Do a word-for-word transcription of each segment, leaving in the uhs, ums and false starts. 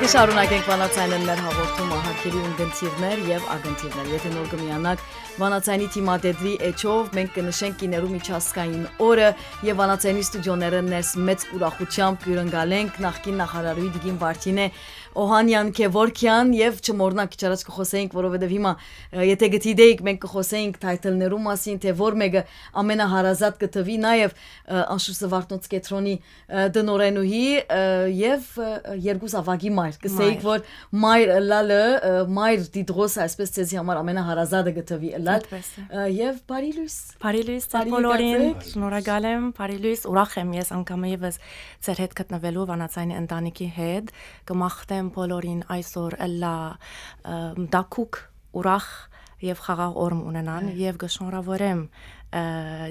Շարունակենք Վանաձայնէն մեր հաղորդումը, հարգելի ունկնդիրներ եւ ակնդիրներ։ Եթե նոր կը միանաք Վանաձայնի թիմադեդրի էջով, մենք կը նշենք կիներու միջազգային օրը եւ Վանաձայնի ստուդիոներէն ներս մեծ ուրախութեամբ կ'յուրընկալենք նախկին նախարարուհի տիկին Վարդինե Օհանեան Գեորգեան եւ չմոռնանք, քիչ առաջ կը խօսէինք, որովհետեւ հիմա, ը, եթե գտի դեիք, մենք կը խօսէինք թայթլներու մասին, թէ որ մէկը ամենահարազատ կը թուի, նաեւ, ը, անշուշտ Զվարթնոց կեդրոնի, ը, տնօրէնուհի, ը, եւ, ը, երկու զաւակի մայր, կ'ըսէիք, մայր, որ մայր ըլլալը, ը, մայր դիդրոս, այսպես, ձեզի համար ամենահարազատը կը թուի ըլլալ։ Այդպես է։ Ը, եւ բարի լոյս։ Բարի լոյս ձեզ Բարի բոլորին, եկած եք։ Շնորհակալ եմ, բարի լոյս, ուրախ եմ ես անգամ եւս ձեր հետ գտնվելու Վանաձայնի ընտանիքի հետ, կը մաղթեմ բոլորին այսօր ըլլայ, ը, տաքուկ, ուրախ եւ խաղաղ օր մը ունենան Այո։ եւ կը շնորհավորեմ, ը,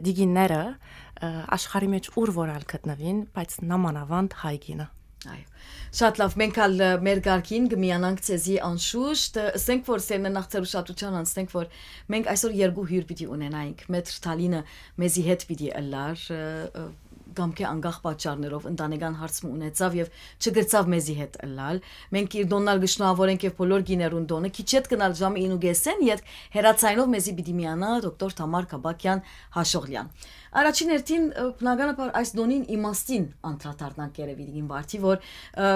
դիգինները, ը, աշխարհի մեջ ուր որ ալ գտնուին, բայց նամանավանդ հայ կինը։ Այո։ Շատ լավ, մենք ալ, ը, մեր կարգին կը միանանք ձեզի անշուշտ, ը, ըսենք որ սերնը նախ ձեր ուշադրութեան անցնենք, որ մենք այսօր երկու հիւր պիտի ունենայինք, Մետր Թալինը մեզի հետ պիտի ըլլար, ը, ը, կամ կը անկախ պատճառներով ընտանեկան հարց մը ունեցաւ եւ չկրցաւ մեզի հետ ըլլալ։ Մենք իր տօնն ալ կը շնորհավորենք եւ բոլոր կիներուն տօնը, քիչ յետ կ'ընալ ժամը ինը կէսէն ետք հեռաձայնով մեզի պիտի միանայ դոկտոր Թամար Կաբակեան Հաշողլեան։ Առաջին հերթին, ը, բնականաբար այս տօնին իմաստին անդրադառնանք երեւի դիգին Վարդի, որ, ը,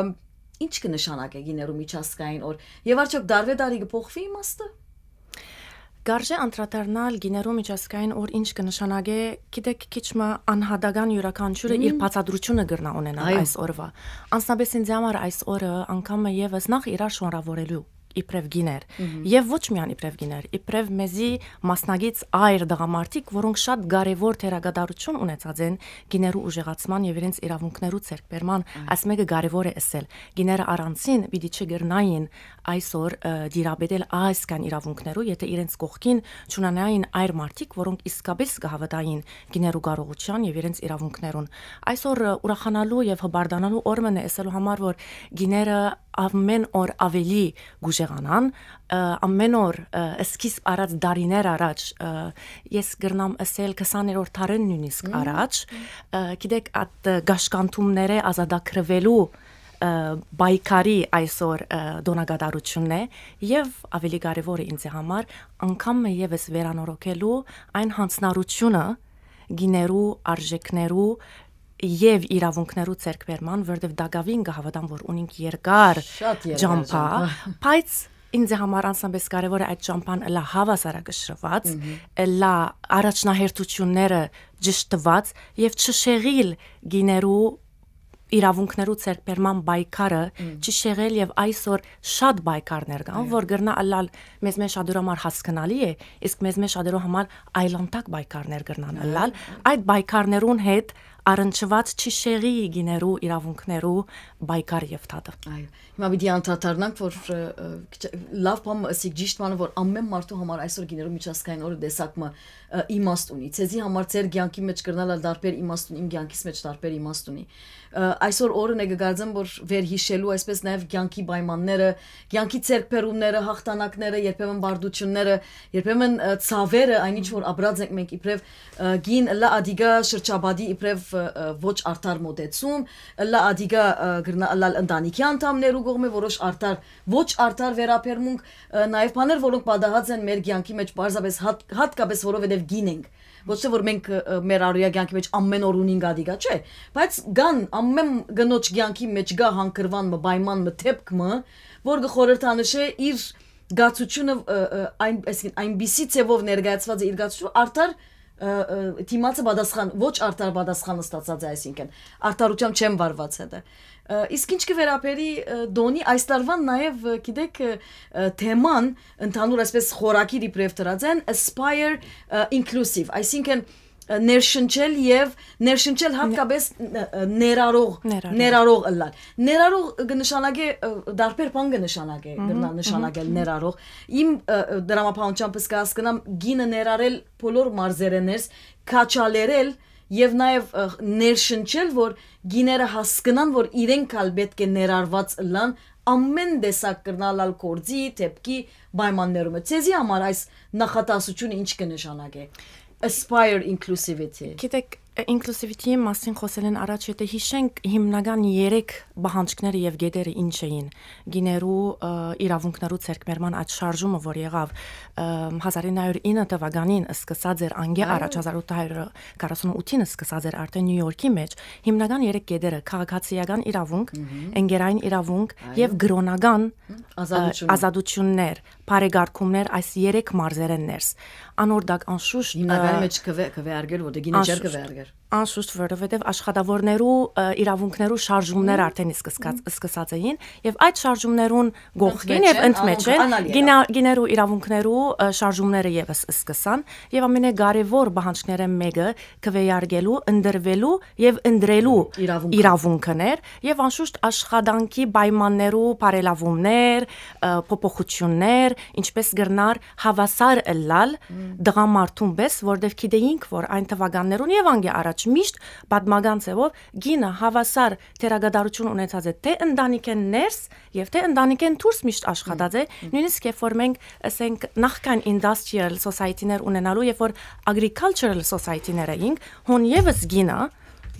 ինչ կը նշանակէ կիներու միջազգային օր եւ արդյոք դարբե դարի կը փոխուի իմաստը։ Կարժէ անդրադառնալ կիներու միջազգային օր ինչ կը նշանակէ, գիտեք, քիչ մը անհատական յուրաքանչիւրը իր Մհմ։ բացատրութիւնը կրնայ ունենալ Այո։ այս օրվա։ Անձնապէս ինձ համար այս օրը անգամ մը եւս նախ իրար շնորհավորելու իբրեւ կիներ Մհմ։ եւ ոչ միայն իբրեւ կիներ, իբրեւ մեզի մասնակից այր տղամարդիկ, որոնք շատ կարեւոր դերակատարութիւն ունեցած են կիներու ուժեղացման եւ իրենց իրաւունքներու ձեռքբերման, Այո։ այս մէկը կարեւոր է ըսել։ Կիները առանցին պիտի չկրնային այսօր, ը, դիրապետել այսքան իրաւունքներու, եթե իրենց կողքին չունենային այր մարդիկ, որոնք իսկապէս կը հաւատային կիներու կարողութեան եւ իրենց իրաւունքներուն։ Այսօր, ը, ուրախանալու եւ հպարտանալու օր մը է, ըսելու համար, որ կիները ամէն օր աւելի կ'ուժեղանան, ը, ամէն օր, ը, սկիզբ առած դարիներ առաջ, ը, ես կրնամ ըսել քսաներորդ դարէն նոյնիսկ Մհմ։ առաջ, ը, գիտեք, այդ, ը, գաշկանդումներէ ազատագրուելու, ը, պայքարի այսօր, ը, տօնակատարութիւնն է եւ աւելի կարեւոր է ինձ համար անգամ մը եւս վերանորոգելու այն յանձնառութիւնը կիներու արժեքներու եւ իրաւունքներու ձեռքբերման, որտեւ տակաւին կը հաւատամ, որ ունինք երկար Շատ երկար ճամփա, ճամփա։ բայց ինձ համար անձնապէս կարեւոր է այդ ճամփան ըլլայ հաւասարակշռուած, Մհմ։ ըլլայ առաջնահերթութիւնները ճշտուած եւ չշեղիլ կիներու իրաւունքներու ձեռքբերման պայքարը, Մհմ։ չշեղել եւ այսօր շատ պայքարներ կան, Այո։ որ կրնայ ըլլալ մեզ մէջ շատերու համար հասկնալի է, իսկ մեզ մէջ շատերու համար այլանդակ պայքարներ կրնան Այո։ ըլլալ։ Այդ պայքարներուն հետ առնչուած չշեղի կիներու իրաւունքներու պայքար եւ դատը։ Այո։ Հիմա պիտի անդրադառնանք, որ, ը, ը, քիչ-, լավ բան մը ըսիք, ճիշտ բանը, որ ամեն մարդու համար այսօր կիներու միջազգային օրը տեսակ մը, ը, իմաստ ունի։ Ձեզի համար ձեր կեանքի մէջ կրնալ ալ տարբեր իմաստ ունի, իմ կեանքիս մէջ տարբեր իմաստ ունի։ Ը, այսօր օրն է, կը կարծեմ, որ վերհիշելու, այսպես նաեւ կեանքի պայմանները, կեանքի ձեռքբերումները, հաղթանակները, երբեմն բարդությունները, երբեմն, ը, ցաւերը, այն ինչ որ ապրած ենք մենք իբրեւ, ը, գին, ըլլայ ադիգա շրջապատի իբրեւ, ը, ը, ոչ արդար մոտեցում, ըլլայ ադիգա, ը, կրնայ ըլլալ ընտանիքի անդամներու կողմէ որոշ արդար, ոչ արդար վերաբերմունք, ը, նաեւ բաներ, որոնք պատահած են մեր կեանքի մէջ պարզապէս հատ-, յատկապէս որովհետեւ գին ենք։ Ոչ թե որ մենք, ը, ը, մեր առօրյա կեանքի մէջ ամեն օր ունինք ադիգա, չէ, բայց կան, ամեն կնոջ կեանքի մէջ կայ հանգրուան մը, պայման մը, դէպք մը, որ կը խորհրդանշէ իր կացությունը, ը, ը, այն, այսինքն, այնպիսի ձևով ներկայացված է իր կացությունը, արդար, ը, ը, դիմացը պատասխան, ոչ արդար պատասխան ստացած է, այսինքն, արդարութեամբ չեն վարված հետը։ Ը, իսկ ինչ կը վերաբերի, ը, տօնի, այս տարուան նաեւ, ը, գիտեք, ը, ը, թեման, ընդհանուր այսպես խորագիր իբրեւ դրած են, Aspire, ը, Inclusive, այսինքն, ը, ներշնչել եւ ներշնչել Ն- հատկապես, ը, ը, ներառող, Ներառող։ ներառող ըլլալ։ Ներառող կը նշանակէ, ը, դարբեր բան կը նշանակէ, Մհմ, կրնա նշանակել մհմ, մհմ։ ներառող։ Իմ, ը, ը, դրամապահությամբ կը հասկնամ գինը ներառել բոլոր մարզերէ ներս, քաչալերել եւ նաեւ, ը, ներշնչել, որ գիները հասկնան, որ իրենք ալ պէտք է ներառված ըլլան ամեն տեսակ կրնալ ալ գործի, դէպքի պայմաններում։ Ձեզի համար այս նախատասությունը ինչ կը նշանակէ։ Aspire Inclusivity։ Գիտեք, Inclusivity-ի մասին խօսելէն առաջ, եթե յիշենք, հիմնական երեք պահանջքները եւ կետերը ինչ էին, կիներու, ը, իրաւունքներու ձեռքբերման այդ շարժումը, որ եղաւ, ը, հազար ինը հարիւր ինը թվականին սկսած էր, անկէ Այո։ առաջ հազար ութ հարիւր քառասուն ութին սկսած էր արդեն Նիու Յորքի մէջ, հիմնական երեք կետերը՝ քաղաքացիական իրաւունք, Մհմ։ ընկերային իրաւունք Այո։ եւ կրօնական, Մհմ։ ը, Ազատություններ։ ազատություններ, բարեկարգումներ այս երեք մարզերէն ներս։ Անոր տակ անշուշտ, Հիմնականի ը, մեջ կը վե-, կը վեարկեր, որտեղ գինը չէր անշուշտ, կը վեարկեր։ անշուշտ, որովհետեւ աշխատաւորներու, ը, իրաւունքներու շարժումներ Մհմ։ արդեն սկսած, Մհմ։ սկսած էին, եւ այդ շարժումներուն կողքին Ընդմէջ եւ են, ընդմէջ անոնք են անալի գինա-, եղան։ գիներու իրաւունքներու, ը, շարժումները եւս սկսան, եւ ամենակարեւոր պահանջքներէն մէկը քվեարկելու, ընտրվելու եւ ընտրելու Իրաւունքը։ իրաւունքն էր, եւ անշուշտ աշխատանքի պայմաններու բարելաւումներ, ը, փոփոխություններ, ինչպես կրնար հաւասար ըլլալ Մմ։ տղամարդուն պէս, որտեւ գիտեինք, որ այն թվականներուն եւ անկէ առաջ միշտ պատմական ձեւով գինը հաւասար դերակատարութիւն ունեցած է, թէ ընտանիքէն ներս եւ թէ ընտանիքէն դուրս միշտ աշխատած է, Մմ։ նոյնիսկ երբ որ մենք, ասենք, նախքան industrial society-ներ ունենալու, երբ որ agricultural society-ներ էինք, հոն եւս գինը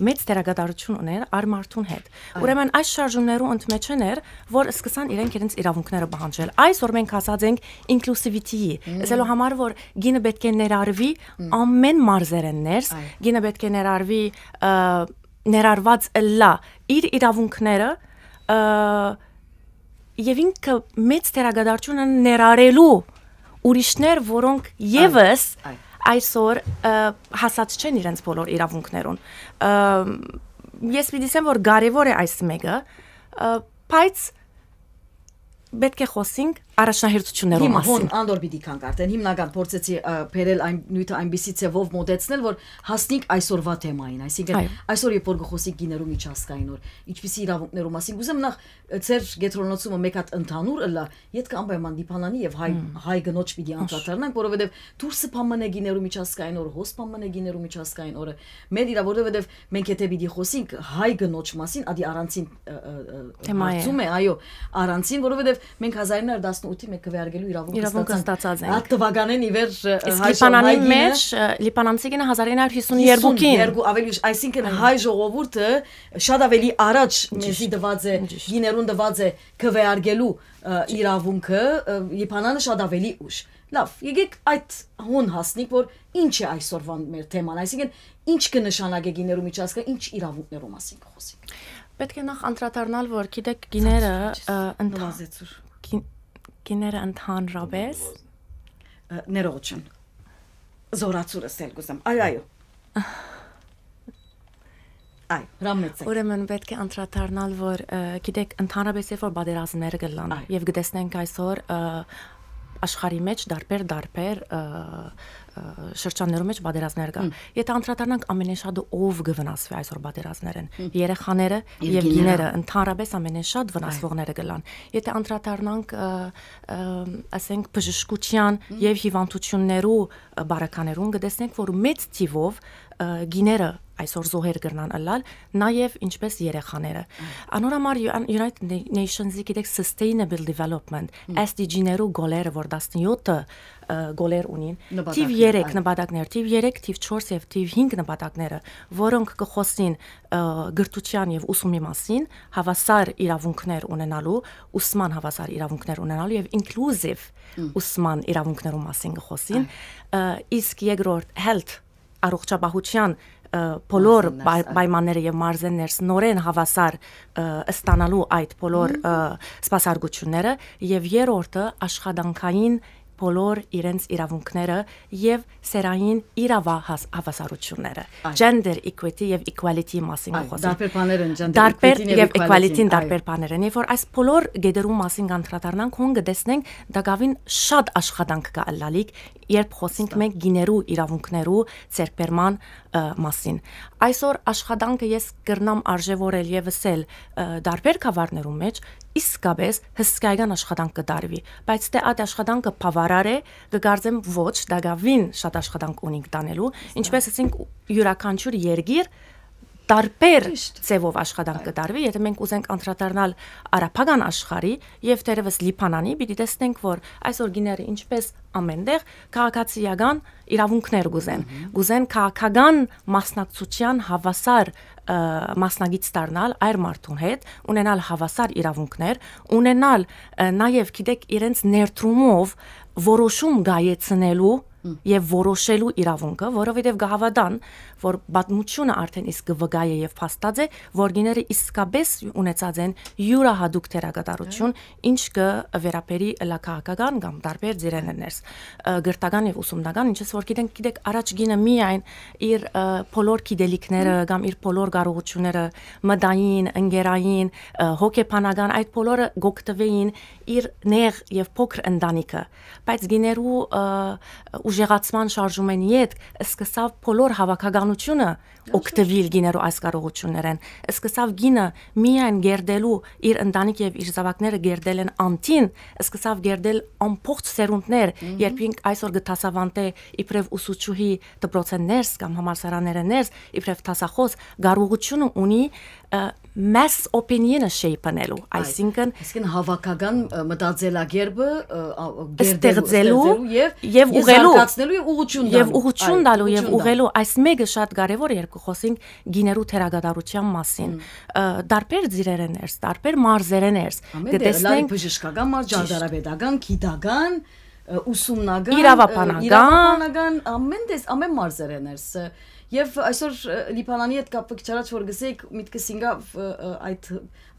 մեծ դերակատարութիւն ուներ արմարդուն հետ։ Այո։ Ուրեմն այս շարժումներու ընդմէջէն էր, որ սկսան իրենք իրենց իրաւունքները պահանջել։ Այսօր մենք հասած ենք inclusivity-ի, Մմ։ ասելու համար, որ գինը պէտք է ներառուի Մմ։ ամեն մարզերէն ներս, Այո։ գինը պէտք է ներառուի, ը, ներառված ըլլայ իր իրաւունքները, ը, եւ ինքը մեծ դերակատարութիւնը ներառելու ուրիշներ, որոնք Այ, եւս այ։ այսօր, ը, հասած չեն իրենց բոլոր իրաւունքներուն։ Ը, ես պիտի ասեմ, որ կարեւոր է այս մէկը, ը, բայց պէտք է խօսենք առաջնահերթություններու Հիմա հոն մասին։ անդոր պիտի գանք արդեն, հիմնական փորձեցի, ը, բերել այն նիւթը այնպիսի ձևով մոտեցնել, որ հասնենք այսօրվա թեմային, այսինքն Այո։ այսօր երբ որ կը խօսենք գիներու միջազգային օր, ինչպիսի իրաւունքներու մասին, կուզեմ նախ, ը, ձեր կեդրոնացումը մէկ հատ ընդհանուր ըլլայ, ետքը անպայման դիպանանի եւ հայ, Հմ։ հայ կնոջ պիտի Անշ- անդրադառնանք, որովհետեւ դուրսը բան մնե գիներու միջազգային օրը, հոս բան մնե գիներու միջազգային օրը, մեր իրա, որովհետեւ մենք եթե պիտի խօսենք հայ կնոջ մասին, ադի առանցին, ը, ը, ը, Թեմա է։ հարցում է, այո, առանցին, որովհետեւ մենք հազար ինը հարիւր տասնութի մէջ քվեարկելու իրաւունքը Իրաւունքը ստացանք։ ստացած ենք։ Այդ թվականէն ի վեր, ը, Իսկ հայ ժամ-, Լիբանանի հայ գինը մեջ, ը, լիբանանցի գինը հազար ինը հարիւր հիսուն երկուքին։ հիսուն երկու, ավելի ուշ, այսինքն Այո։ հայ ժողովուրդը շատ ավելի առաջ Ճիշտ։ մեզի տուած է, Ճիշտ։ գիներուն տուած է քվեարկելու, ը, իրաւունքը, ը, Լիբանանը շատ ավելի ուշ։ Լավ, եկեք այդ հոն հասնենք, որ ինչ է այսօրվան մեր թեման, այսինքն ինչ կը նշանակէ գիներու միջազգը, ինչ իրաւունքներու մասին կը խօսենք։ Պէտք է նախ անդրադառնալ, որ գիտեք, գիները, Ցած, ը, ընդհան-, Նվազեցուր։ գին-, գիները ընդհանրապես Ը, ներողություն։ Զորացուրս էլ կուզեմ։ Այո, այո։ Այո, հրամայեցեք։ Ուրեմն պէտք է անդրադառնալ, որ, ը, գիտեք, ընդհանրապես երբ որ պատերազմներ կլան Այո։ եւ կտեսնենք այսօր, ը, աշխարհի մեջ դարբեր, դարբեր, ը, ը, շրջաններու մեջ պատերազմներ կա։ Հմ։ Եթե անդրադառնանք, ամենեշատը ով կը վնասվի այսօր պատերազմներէն։ Հմ։ Երեխաները Եւ եւ գիները։ գիները ընդհանրապես ամենեշատ վնասվողները կլան։ Եթե անդրադառնանք, ը, ը, ասենք, բժշկության Հմ։ եւ հիվանդություններու, ը, բարականերուն, կտեսնենք, որ մեծ թիվով, ը, գիները այսօր զոհեր կրնան ըլլալ, նաեւ ինչպես երեխաները։ Հմ։ Անոր համար Ю-, United Na-, Nations-ի, գիտեք, Sustainable Development, Հմ։ S D G-ներու գոլերը, որ տասնեօթը, ը, գոլեր ունին, Նպատակներ, թիվ երեք այո։ նպատակներ, թիվ երեք, թիվ չորս եւ թիվ հինգ նպատակները, որոնք կը խօսին, ը, կրթության եւ ուսումի մասին, հաւասար իրաւունքներ ունենալու, ուսման հաւասար իրաւունքներ ունենալու եւ inclusive Հմ։ ուսման իրաւունքներու մասին կը խօսին, Այո։ ը, իսկ երկրորդ health, առողջապահության, ը, բոլոր Մարզերն պայ-, ներս, այո։ պայմանները եւ մարզերն ներս նորէն հաւասար, ը, ստանալու այդ բոլոր, Հմ։ ը, սպասարկությունները, եւ երրորդը աշխատանքային բոլոր իրենց իրաւունքները եւ սեռային իրավահաս-, հավասարությունները, Այո։ gender equity եւ equality-ի մասին Այո, կը խօսենք։ դարբեր բաներ են, gender Դարբեր equity-ն եւ եւ equality-ն, equality-ն այո։ դարբեր բաներ են։ Երբ որ այս բոլոր գետերու մասին կանդրադառնանք, հոն կտեսնենք, տակաւին շատ աշխատանք կա ըլլալիք, երբ խոսենք Վստահ։ մենք գիներու իրաւունքներու ձեռքբերման, ը, մասին։ Այսօր աշխատանքը ես կրնամ արժեվորել եւ ըսել, ը, դարբեր գավառներու մեջ իսկապես հսկայական աշխատանք կը տարուի, բայց թէ այդ աշխատանքը բավարար է, կը կարծեմ ոչ, տակաւին շատ աշխատանք ունինք տանելու, ինչպես ասենք, յուրաքանչյուր երկիր տարբեր Ճիշտ։ Ձեւով աշխատանք Այո։ Կը տարուի, եթե մենք ուզենք անդրադառնալ արաբական աշխարհի եւ թերեւս Լիբանանի, պիտի տեսնենք, որ այսօր գիները ինչպես ամեն տեղ քաղաքացիական իրավունքներ կուզեն, Մհմ։ Կուզեն քաղաքական մասնակցության հավասար, ը, մասնակից դառնալ այր մարդուն հետ, ունենալ հավասար իրավունքներ, ունենալ, ը, նաեւ, գիտեք, իրենց ներդրումով որոշում գայեցնելու Մհմ։ Եւ որոշելու իրավունքը, որովհետեւ կհաւատան, որ պատմությունը արդեն իսկ կը վկայէ եւ փաստած է, որ գիները իսկապես ունեցած են յուրահատուկ դերակատարություն, ինչ կը վերաբերի ըլլայ քաղաքական կամ տարբեր ծիրերներս, ը, կրթական եւ ուսումնական, ինչպես որ գիտենք, գիտեք, առաջ գինը միայն իր, ը, բոլոր գիտելիքները Մհմ։ Կամ իր բոլոր կարողությունները, մտային, ընկերային, ը, հոգեբանական, այդ բոլորը կօգտուէին իր նեղ եւ փոքր ընտանիքը, բայց գիներու, ը, ուժեղացման շարժումէն ետք սկսաւ բոլոր հաւաքականությունը օգտուիլ գիներու այս կարողություններէն։ Սկսաւ գինը միայն գերդելու իր ընտանիք եւ իր զաւակները գերդելէն անդին, սկսավ գերդել ամբողջ սերունդներ, Մհմ։ Երբ ինք այսօր կը դասավանդէ իբրեւ ուսուցչուհի դպրոցէն ներս կամ համալսարաններէն ներս, իբրեւ դասախոս, կարողությունը ունի, ը, mass opinion-ը shape-անելու, Այ, այսինքն այսինքն հավաքական, ը, մտածելակերպը, ը, ա, գերդելու, ստեղծելու ստեղծելու եւ, եւ եւ ուղղելու, զարգացնելու եւ ուղղություն եւ տալու։ ուղղություն Այ, տալու եւ ուղղություն տալու։ Ուղղելու, այս մեկը շատ կարեւոր, երբ կը խոսենք գիներու թերակատարութեան մասին, Մհմ։ Ը, տարբեր ծիրերէն ներս, տարբեր մարզերէն ներս, Ամեն կը տեղ, լալի տեսնենք բժշկական մարզ, ճիշտ։ Ճարտարապետական, գիտական, ը, ուսումնական, ը, Իրաւաբանական։ իրաւաբանական, ամեն տես-, ամեն մարզերէն ներս, ը, եւ այսօր, ը, Լիբանանի հետ կապ-, քիչ առաջ որ գսեիք, միտքս ինգա, ը, ը, այդ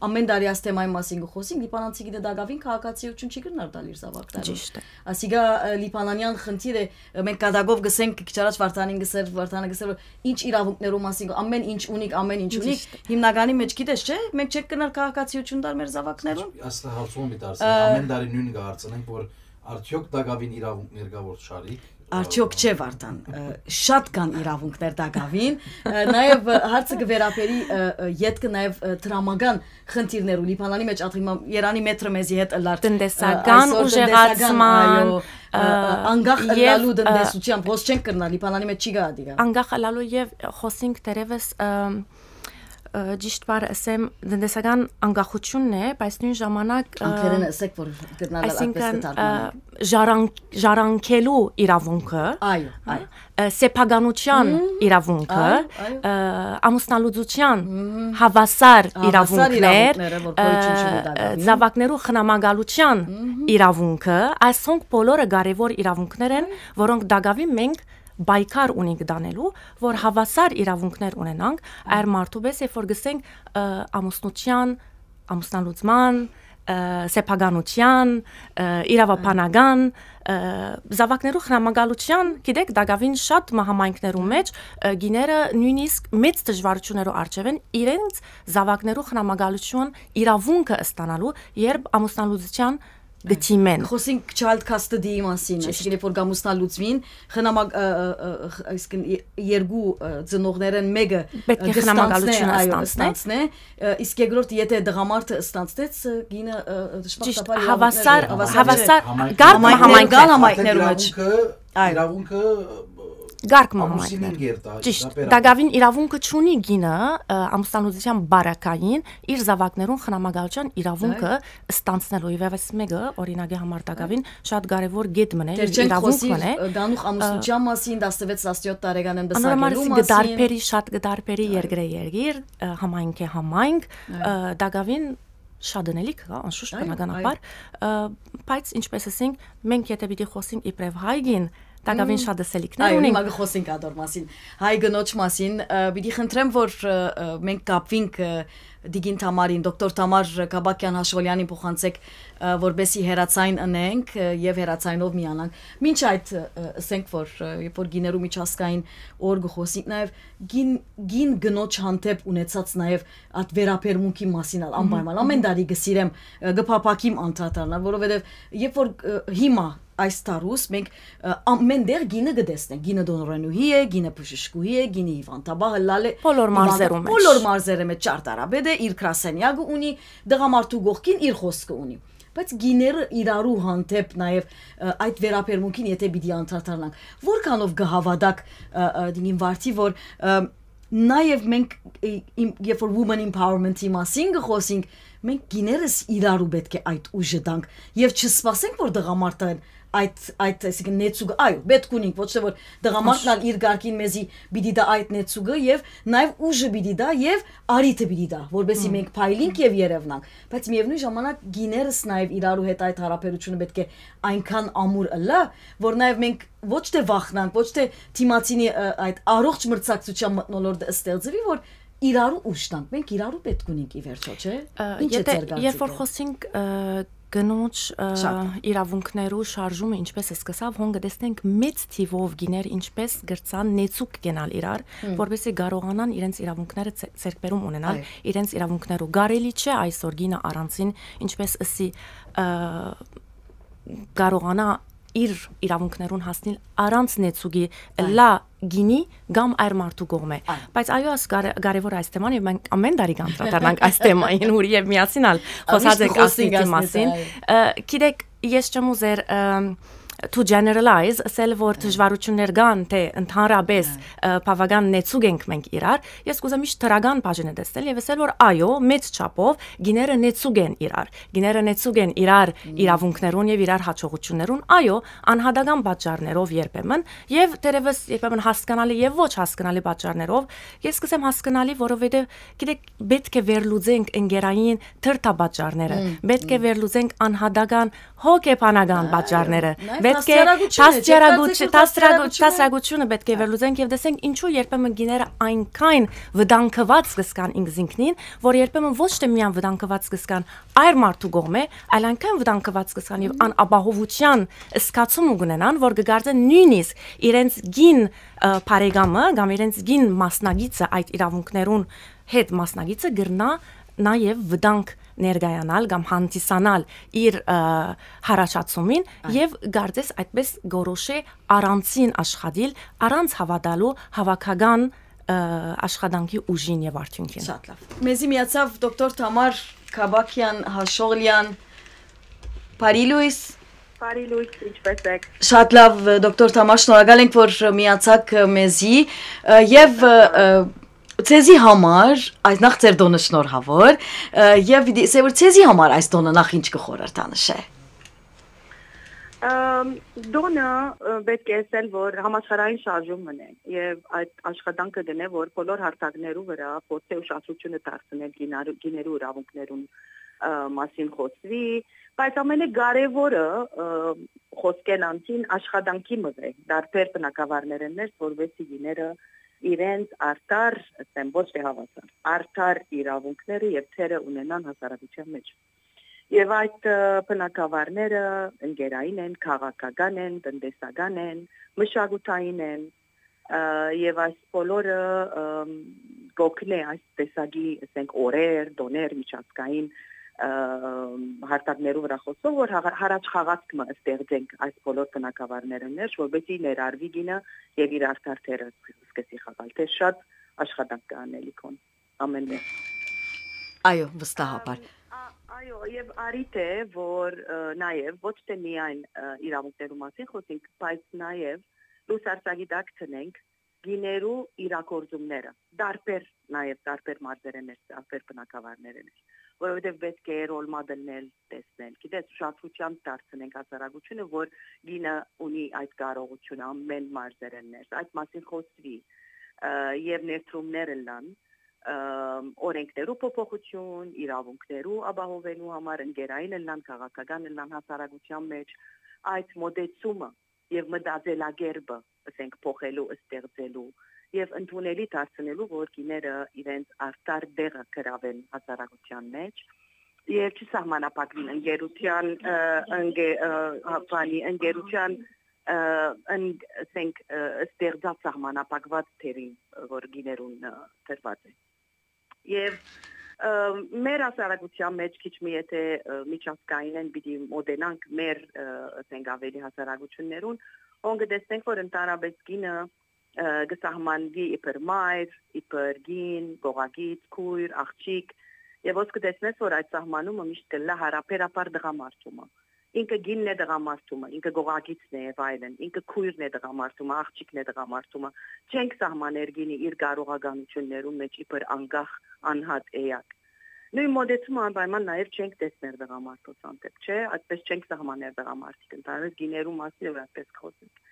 ամեն տարի այս թեմայի մասին կը խոսենք, լիբանանցի գիտե դակաւին քաղաքացիություն չի կրնար տալ իր զաւակներուն։ Ճիշտ է։ Ասիկա, ը, լիբանանեան խնդիր է, ը, մենք կատակով գսենք, քիչ առաջ Վարդանին գսեր, Վարդանը գսեր, որ ինչ իրավունքներու մասին, ամեն ինչ ունիք, ամեն ինչ ունիք, Ճիշտ է։ Հիմնականի մեջ գիտես, չէ՞, մենք չենք կրնար քաղաքացիություն տալ մեր զաւակներուն։ Ասլը հարցում մի դարձնենք, Ը, ամեն տարի նույնը կը հարցնենք, որ արդյոք տակավին իրավունքներ կա, որ չարիք։ Արդյոք չէ, Վարդան, ը, շատ կան իրավունքներ տակավին, ը, նաեւ, ը, հարցը կը վերաբերի, ը, ը, ետքը նաեւ, ը, դրամական խնդիրներու, Լիբանանի մեջ ատի մա-, Երանի մետրը մեզի հետ ըլլար, ը, Տնտեսական այսօր տնտեսական, ուժեղացման, այո, ը, ը, ը, անկախ եւ, ըլլալու ը, տնտեսությամբ, հոս չենք կրնար, Լիբանանի մեջ չի գա ադիգա։ Անկախ ըլլալու եւ խոսինք դերևս, ը, ը, ճիշտ բառը ասեմ, տնտեսական անկախությունն է, բայց նույն ժամանակ, ը, Անգլերէնը ասեք, որ կրնալ ալ այդպես այսինքն, կը թարգմանենք։ ը, ժառանգ-, ժառանգելու իրավունքը, Այո, այո։ ը, սեփականության Մհմ, իրավունքը, այո, այո։ ը, ամուսնալուծության Մհմ։ Հավասար Հավասար իրավունքներ, իրավունքները, որ գոյություն ը, չունի տակավին։ Զաւակներու խնամակալության Մհմ։ Իրավունքը, այսոնք բոլորը կարեւոր իրավունքներ են, Այո։ Որոնք տակավին մենք պայքար ունենք տանելու, որ հավասար իրավունքներ ունենանք այր մարդու պես, երբ որ գսենք, ը, ամուսնության, ամուսնալուծման, ը, սեփականության, ը, իրավաբանական, ը, զաւակներու խնամակալության, գիտեք, տակավին շատ մը համայնքներու մեջ, ը, գիները նույնիսկ մեծ դժվարություններու առջեւ են իրենց զաւակներու խնամակալության իրավունքը ստանալու, երբ ամուսնալուծության կը դիմեն։ Խոսենք child custody-ի մասին, Ճիշտ։ Այսինքն, երբ որ կամուսնալուծվին, խնամակ-, ը, ը, ը, ը, այսինքն, ե-, երկու, ը, ծնողներէն մեկը, Պետք է ը, կստանցնե, խնամակալությունը այո, ստանցնե։ Կստանցնե, ը, իսկ երկրորդ, եթե տղամարդը ստանցնեց, ը, գինը, ը, ը, Ճիշտ, դժբախտաբար հավասար, իրավունքները, հավասար, Համայնքներ, կարգ մը համայնքներ, համայնքներ, կան համայնքներ, համայնքներու մեջ։ Այո։ Իրավունքը, ը, Կարգ մը ամուսինին համայնքներ։ Գերտա, Ճիշտ, դապեր տակավին իրավունքը չունի գինը, ը, ամուսնալուծության բարակային իր զաւակներուն խնամակալության իրավունքը Այո։ Ստանցնելու։ Եվ այս մեկը, օրինակի համար, տակավին շատ կարեւոր գետ մնե, Դեռ չենք իրավունք խոսի, մնե, ը, գանուխ ը, ամուսնության մասին, տասնվեց, տասնյոթ տարեկանեն Անորոմար պսակելու սի մասին։ Կդարբերի, շատ կդարբերի Այո։ Երկրէ երկիր, ը, համայնքէ համայնք, Այո։ Ը, տակավին շատ ընելիք կա, անշուշտ, Այո, բնականաբար, այո։ Ը, բայց, ինչպես ասենք, մենք եթե պիտի խոսենք իբրև հայ գին, տակավին Մմ։ շատ ասելիքներ Այո, ունենք։ Հիմա կխոսենք ադոր մասին, հայ կնոջ մասին, ը, պիտի խնդրեմ, որ, ը, ը, մենք կապվենք, ը, Տիկին Թամարին, դոկտոր Թամար Կաբակյան Հաշոլյանին փոխանցեք, ը, որպեսի հերացայն ընենք, ը, եւ հերացայնով միանանք։ Մինչ այդ, ը, ը, ասենք, որ, ը, երբ որ գիներու միջազգային օր կխոսենք, նաեւ գին, գին կնոջ հանդեպ ունեցած նաեւ այդ վերաբերմունքի մասին ալ Մհմ, անպայման։ Ամեն մհմ։ Տարի կսիրեմ, ը, կփափակիմ անդրադառնալ, որովհետեւ երբ որ, ը, հիմա այս տարուս մենք, ը, ամեն տեղ գինը կտեսնենք, գինը տնօրենուհի է, գինը բժշկուհի է, գինը հիվանդաբա ըլլալ է, Բոլոր հիվանդա-, մարզերու մեջ։ Բոլոր մարզերը մեջ ճարտարապետ է, իր գրասենյակը ունի, տղամարդու կողքին իր խոսքը ունի։ Բայց գիները իրարու հանդեպ նաեւ, ը, այդ վերաբերմունքին եթե պիտի անդրադառնանք, որքանով կհավատաք, ը, ը, դինին Վարդի, որ, ը, Նաեւ մենք, ը, իմ, երբ որ women empowerment-ի մասին կը խոսենք, մենք կիներս իրարու պէտք է այդ ուժը տանք եւ չսպասենք, որ տղամարդը այդ, այդ, այսինքն, նեցուկը, այո, պէտք ունենք, ոչ թե որ տղամարդն ալ իր կարգին մեզի պիտի տայ այդ նեցուկը եւ նաեւ ուժը պիտի տայ եւ արիթը պիտի տայ, որպեսզի մենք փայլինք եւ երեւնանք։ Բայց միեւնոյն ժամանակ կիներս նաեւ իրարու հետ այդ հարաբերությունը պէտք է այնքան ամուր ըլլայ, որ նաեւ մենք ոչ թե վախնանք, ոչ թե դիմացինի, ը, այդ առողջ մրցակցության մթնոլորտը ստեղծուի, որ իրարու ուժ տանք, մենք իրարու պէտք ունենք ի վերջո, չէ՞։ Ը, Ինչ է եթե, ձեր երբ որ կարծիքը։ խոսենք, ը, կնոջ, ը, Շատ։ իրավունքներու շարժումը ինչպես սկսաւ, հոն կտեսնենք մեծ թիվով գիներ ինչպես կրցան նեցուկ կենալ իրար, Հմ։ որպեսզի կարողանան իրենց իրավունքները ձե-, ձեռքբերում ունենալ, Այո։ իրենց իրավունքներու։ Կարելի չէ այսօր կինը առանցին, ինչպես ըսի, ը, կարողանա իր իրավունքներուն հասնիլ առանց նեցուկի Այո։ լա գինի կամ այր մարդու կողմէ։ Այո։ Բայց այո, աս կարե-, կարևոր այս թեման, եւ մենք ամեն տարի կանդրադառնանք այս թեմային, ուր եւ միասին ալ Ամիշ խոսած ենք կխոսենք ասնիկի այս մասին։ Այո։ Ը, գիտեք, ես չեմ ուզեր, ըմ, to generalize, ասել, որ Այո։ դժվարություններ կան, թե ընդհանրապես, Այո։ ը, բավական նեցուկ ենք մենք իրար, ես կուզեմ միշտ դրական բաժինը տեսնել եւ ասել, որ այո, մեծ չափով գիները նեցուկ են իրար, գիները նեցուկ են իրար Մմ։ իրավունքներուն եւ իրար հաջողություններուն, այո, անհատական պատճառներով երբեմն, եւ թերեւս երբեմն հասկանալի եւ ոչ հասկանալի պատճառներով, ես կսեմ հասկանալի, որովհետեւ, գիտեք, պէտք է վերլուծենք ընկերային թրթապատճառները, Մմ, պէտք է մմ։ վերլուծենք անհատական հոգեբանական Այո, պատճառները, նաև պէտք է դաստիարակությունը, դաստիարակուչ-, չերկացեցու դաստիարակու-, դաստիարակությունը։ դաստիարակությունը պէտք է Այո։ վերլուծենք եւ տեսենք ինչու երբեմն գիները այնքան վտանգված կսկան ինքզինքնին, որ երբեմն ոչ թե միան վտանգված կսկան այր մարդու կողմէ, այլ այնքան վտանգված կսկան եւ Մհմ։ անապահովության զգացում կունենան, որ կգարձեն նույնիսկ իրենց գին, ը, բարեկամը կամ իրենց գին մասնակիցը այդ իրավունքներուն հետ մասնակիցը կրնա նաև վտանգ ներկայանալ կամ հանդիսանալ իր, ը, հարաճացումին Այո։ եւ կարծես այդպես գորոշէ առանցին աշխատիլ, առանց հավատալու հավաքական, ը, աշխատանքի ուժին եւ արդիւնքին։ Շատ լավ։ Մեզի միացավ դոկտոր Թամար Քաբաքյան Հաշողլյան։ Բարի լույս։ Բարի լույս, ինչպե՞ս եք։ Շատ լավ, դոկտոր Թամար, շնորհակալ ենք, որ միացաք, ը, մեզի, ը, եւ, ը, ը, ձեզի համար, այս նախ ձեր տօնը շնորհաւոր, ը, եւ պիտի ասեմ, որ ձեզի համար այս տօնը նախ ինչ կը խորհրդանշէ։ Ըմ, տօնը, ը, պէտք է ասել, որ համաշխարհային շարժում մնե եւ այդ աշխատանքը գնե, որ բոլոր հարթակներու վրա փորձէ ուշադրությունը դարձնել գինարու-, գիներու իրավունքներուն, ը, մասին խոսվի, բայց ամենակարեւորը, ը, խոսքէն անցին աշխատանքի մղ է, դարբեր բնակավարներէն ներս, որովհետեւ գիները իրենց արդար, ասեմ, ոչ թե հավասար, արդար իրավունքները եւ թերը ունենան հասարակության մեջ։ Եվ այդ, ը, բնակավարները ընկերային են, քաղաքական են, տնտեսական են, մշակութային են, ը, եւ այս բոլորը, ըմ, կօգնէ այս տեսակի, ասենք, օրեր, տօներ, միջազգային, ը, հարթակներու վրա խոսող, որ հաղ-, հարաճ խաղացք մը ստեղծենք այս բոլոր բնակավարներն ներս, որպեսզի ներառվի գինը եւ իր արդար թերը սկսի խաղալ, թե շատ աշխատանք կա անելիքոն ամեն մէկ։ Այո, վստահաբար։ Ամ, ա-, այո, եւ արիթ է, որ, ը, նաեւ ոչ թե միայն, ը, իրավունքներու մասին խոսենք, բայց նաեւ լուսարձակի տակ դնենք գիներու իրագործումները, տարբեր, նաեւ տարբեր մարզերէն ներս, տարբեր բնակավարներէն ներս, որովհետեւ պէտք է role model-ներ տեսնել, գիտես, ուշադրությամբ դարձնենք հասարակությունը, որ գինը ունի այդ կարողությունը ամեն մարզերէն ներս, այդ մասին խոսվի, ը, եւ ներդրումներ ըլլան, ը, օրենքներու փոփոխություն, իրավունքներու ապահովելու համար, ընկերային ըլլան, քաղաքական ըլլան հասարակության մեջ, այդ մոտեցումը եւ մտածելակերպը, ասենք, փոխելու, ստեղծելու եւ ընդունելի դարձնելու, որ գիները իրենց արդար տեղը գրաւեն հասարակության մեջ եւ չսահմանափակվին ընկերության, ը, ընկե-, ը, հա, բանի, ընկերության, ը, ըն-, ասենք, ը, ստեղծած սահմանափակված թերին, որ գիներուն, ը, տրված է։ Եվ, ը, մեր հասարակության մեջ քիչ մի եթե, ը, միջազգայինեն պիտի մոտենանք մեր, ը, ասենք, ավելի հասարակություններուն, հոն կտեսնենք, որ ընդհանրապես գինը, ը, կը սահմանվի իբր մայր, իբր կին, կողակից, քույր, աղջիկ, եւ ոնց կտեսնես, որ այդ սահմանումը միշտ կլա հարաբերաբար տղամարդումը։ Ինքը կինն է տղամարդումը, ինքը կողակիցն է եւ այլն, ինքը քույրն է տղամարդումը, աղջիկն է տղամարդումը։ Չենք սահմաներ կինը իր կարողականություններուն մէջ իբր անկախ անհատ էակ։ Նոյն մոտեցումը անպայման նաեւ չենք տեսներ տղամարդոց հանդէպ, չէ՞, այդպես չենք սահմաներ տղամարդիկ, ընդհանրապես կիներու մասին որ այդպես կխօսենք։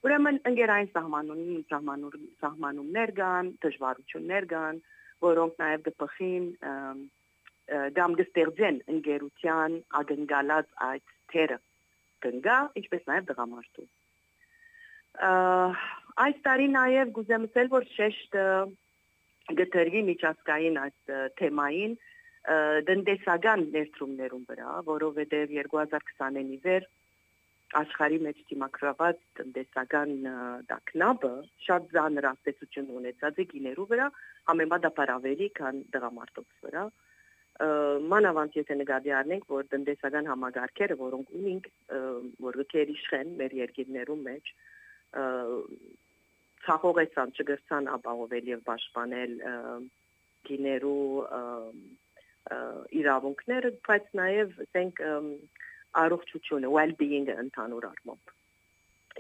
Ուրեմն ընկերային սահմանուն-, սահմանու-, սահմանումներ կան, դժվարություններ կան, որոնք նաեւ կը բխին, ըմ, ը, կամ կը ստեղծեն ընկերութեան ակնկալած այդ թերը կնկա, ինչպես նաեւ տղամարդու։ Ը, այս տարի նաեւ կուզեմ ասել, որ շեշտը կը դրուի միջազգային այս, ը, թեմային, ը, տնտեսական ներդրումներուն վրայ, որովհետեւ երկու հազար քսանին ի վեր աշխարհի մէջ դիմագրաված տնտեսական, ը, տագնապը շատ ծանր ազդեցություն ունեցած է կիներու վրայ, համեմատաբար ավելի, քան տղամարդոց վրայ։ Ը, մանաւանդ եթե նկատի առնենք, որ տնտեսական համակարգերը, որոնք ունինք, ը, որ կը գերիշխեն մեր երկիրներու մէջ, ը, ցախող էցան, չկրցան ապահովել եւ պաշտպանել, ը, կիներու, ը, ը, իրաւունքները, բայց նաեւ, ասենք, ըմ, առողջությունը, well-being-ը ընդհանուր առմամբ։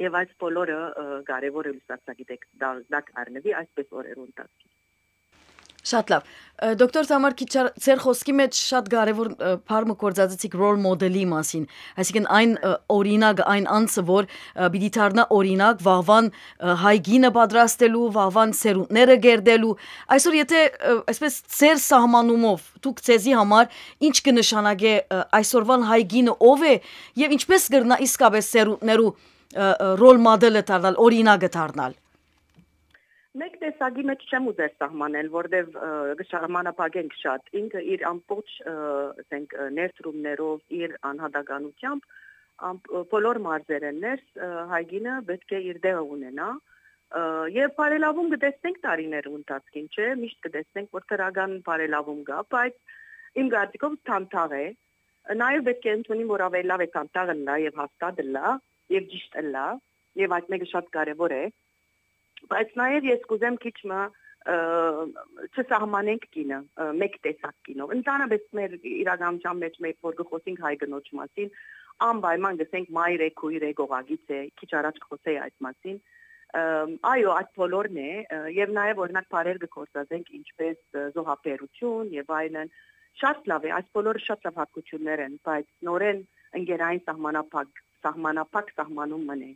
Եւ այս բոլորը, ը, կարեւոր է լուսարձակի տակ, տակ առնուի այսպես օրերու ընթացքին։ Շատ լավ։ Ը, դոկտոր Թամար, քիչ ա-, ձեր խօսքի մէջ շատ կարեւոր, ը, բառ մը գործածեցիք role model-ի մասին, այսինքն այն, ը, օրինակը, այն անձը, որ, ը, պիտի դառնայ օրինակ վաղուան, ը, հայ կինը պատրաստելու, վաղուան սերունդները կերտելու։ Այսօր եթե, ը, այսպես ձեր սահմանումով դուք ձեզի համար ինչ կը նշանակէ, ը, այսօրուան հայ կինը ով է եւ ինչպես կրնայ իսկապես սերունդներու, ը, ը, role model-ը դառնալ, օրինակը դառնալ։ Մէկ տեսակի մէջ չեմ ուզեր սահմանել, որտեւ, ը, կը սահմանափակենք շատ։ Ինքը իր ամբողջ, ը, ասենք, ը, ներդրումներով, իր անհատականությամբ, ամբ-, ը, բոլոր մարզերէն ներս, ը, հայ կինը պէտք է իր տեղը ունենայ, ը, եւ բարելաւում կը տեսնենք տարիներու ընթացքին, չէ՞, միշտ կը տեսնենք, որ դրական բարելաւում կայ, բայց իմ կարծիքով դանդաղ է։ Նաեւ պէտք է ընդունիմ, որ աւելի լաւ է դանդաղ ըլլայ եւ հաստատ ըլլայ եւ ճիշտ ըլլայ, եւ այդ մէկը շատ կարեւոր է, բայց նաեւ ես կուզեմ քիչ մը, ը, չսահմանենք կինը, ը, մէկ տեսակ կինով։ Ընդհանրապես մեր իրականության մէջ, մեր որ կը խօսենք հայ կնոջ մասին, անպայման կ'ըսենք մայր է, քույր է, կողակից է, քիչ առաջ կխօսեի այդ մասին։ Ըմ, այո, այդ բոլորն է, ը, եւ նաեւ օրինակ բառեր կը գործածենք, ինչպես, ը, զոհաբերություն եւ այլն։ Շատ լաւ է, այս բոլորը շատ լաւ հատկություններ են, բայց նորեն ընկերային սահմանափակ, սահմանափակ սահմանում մնե։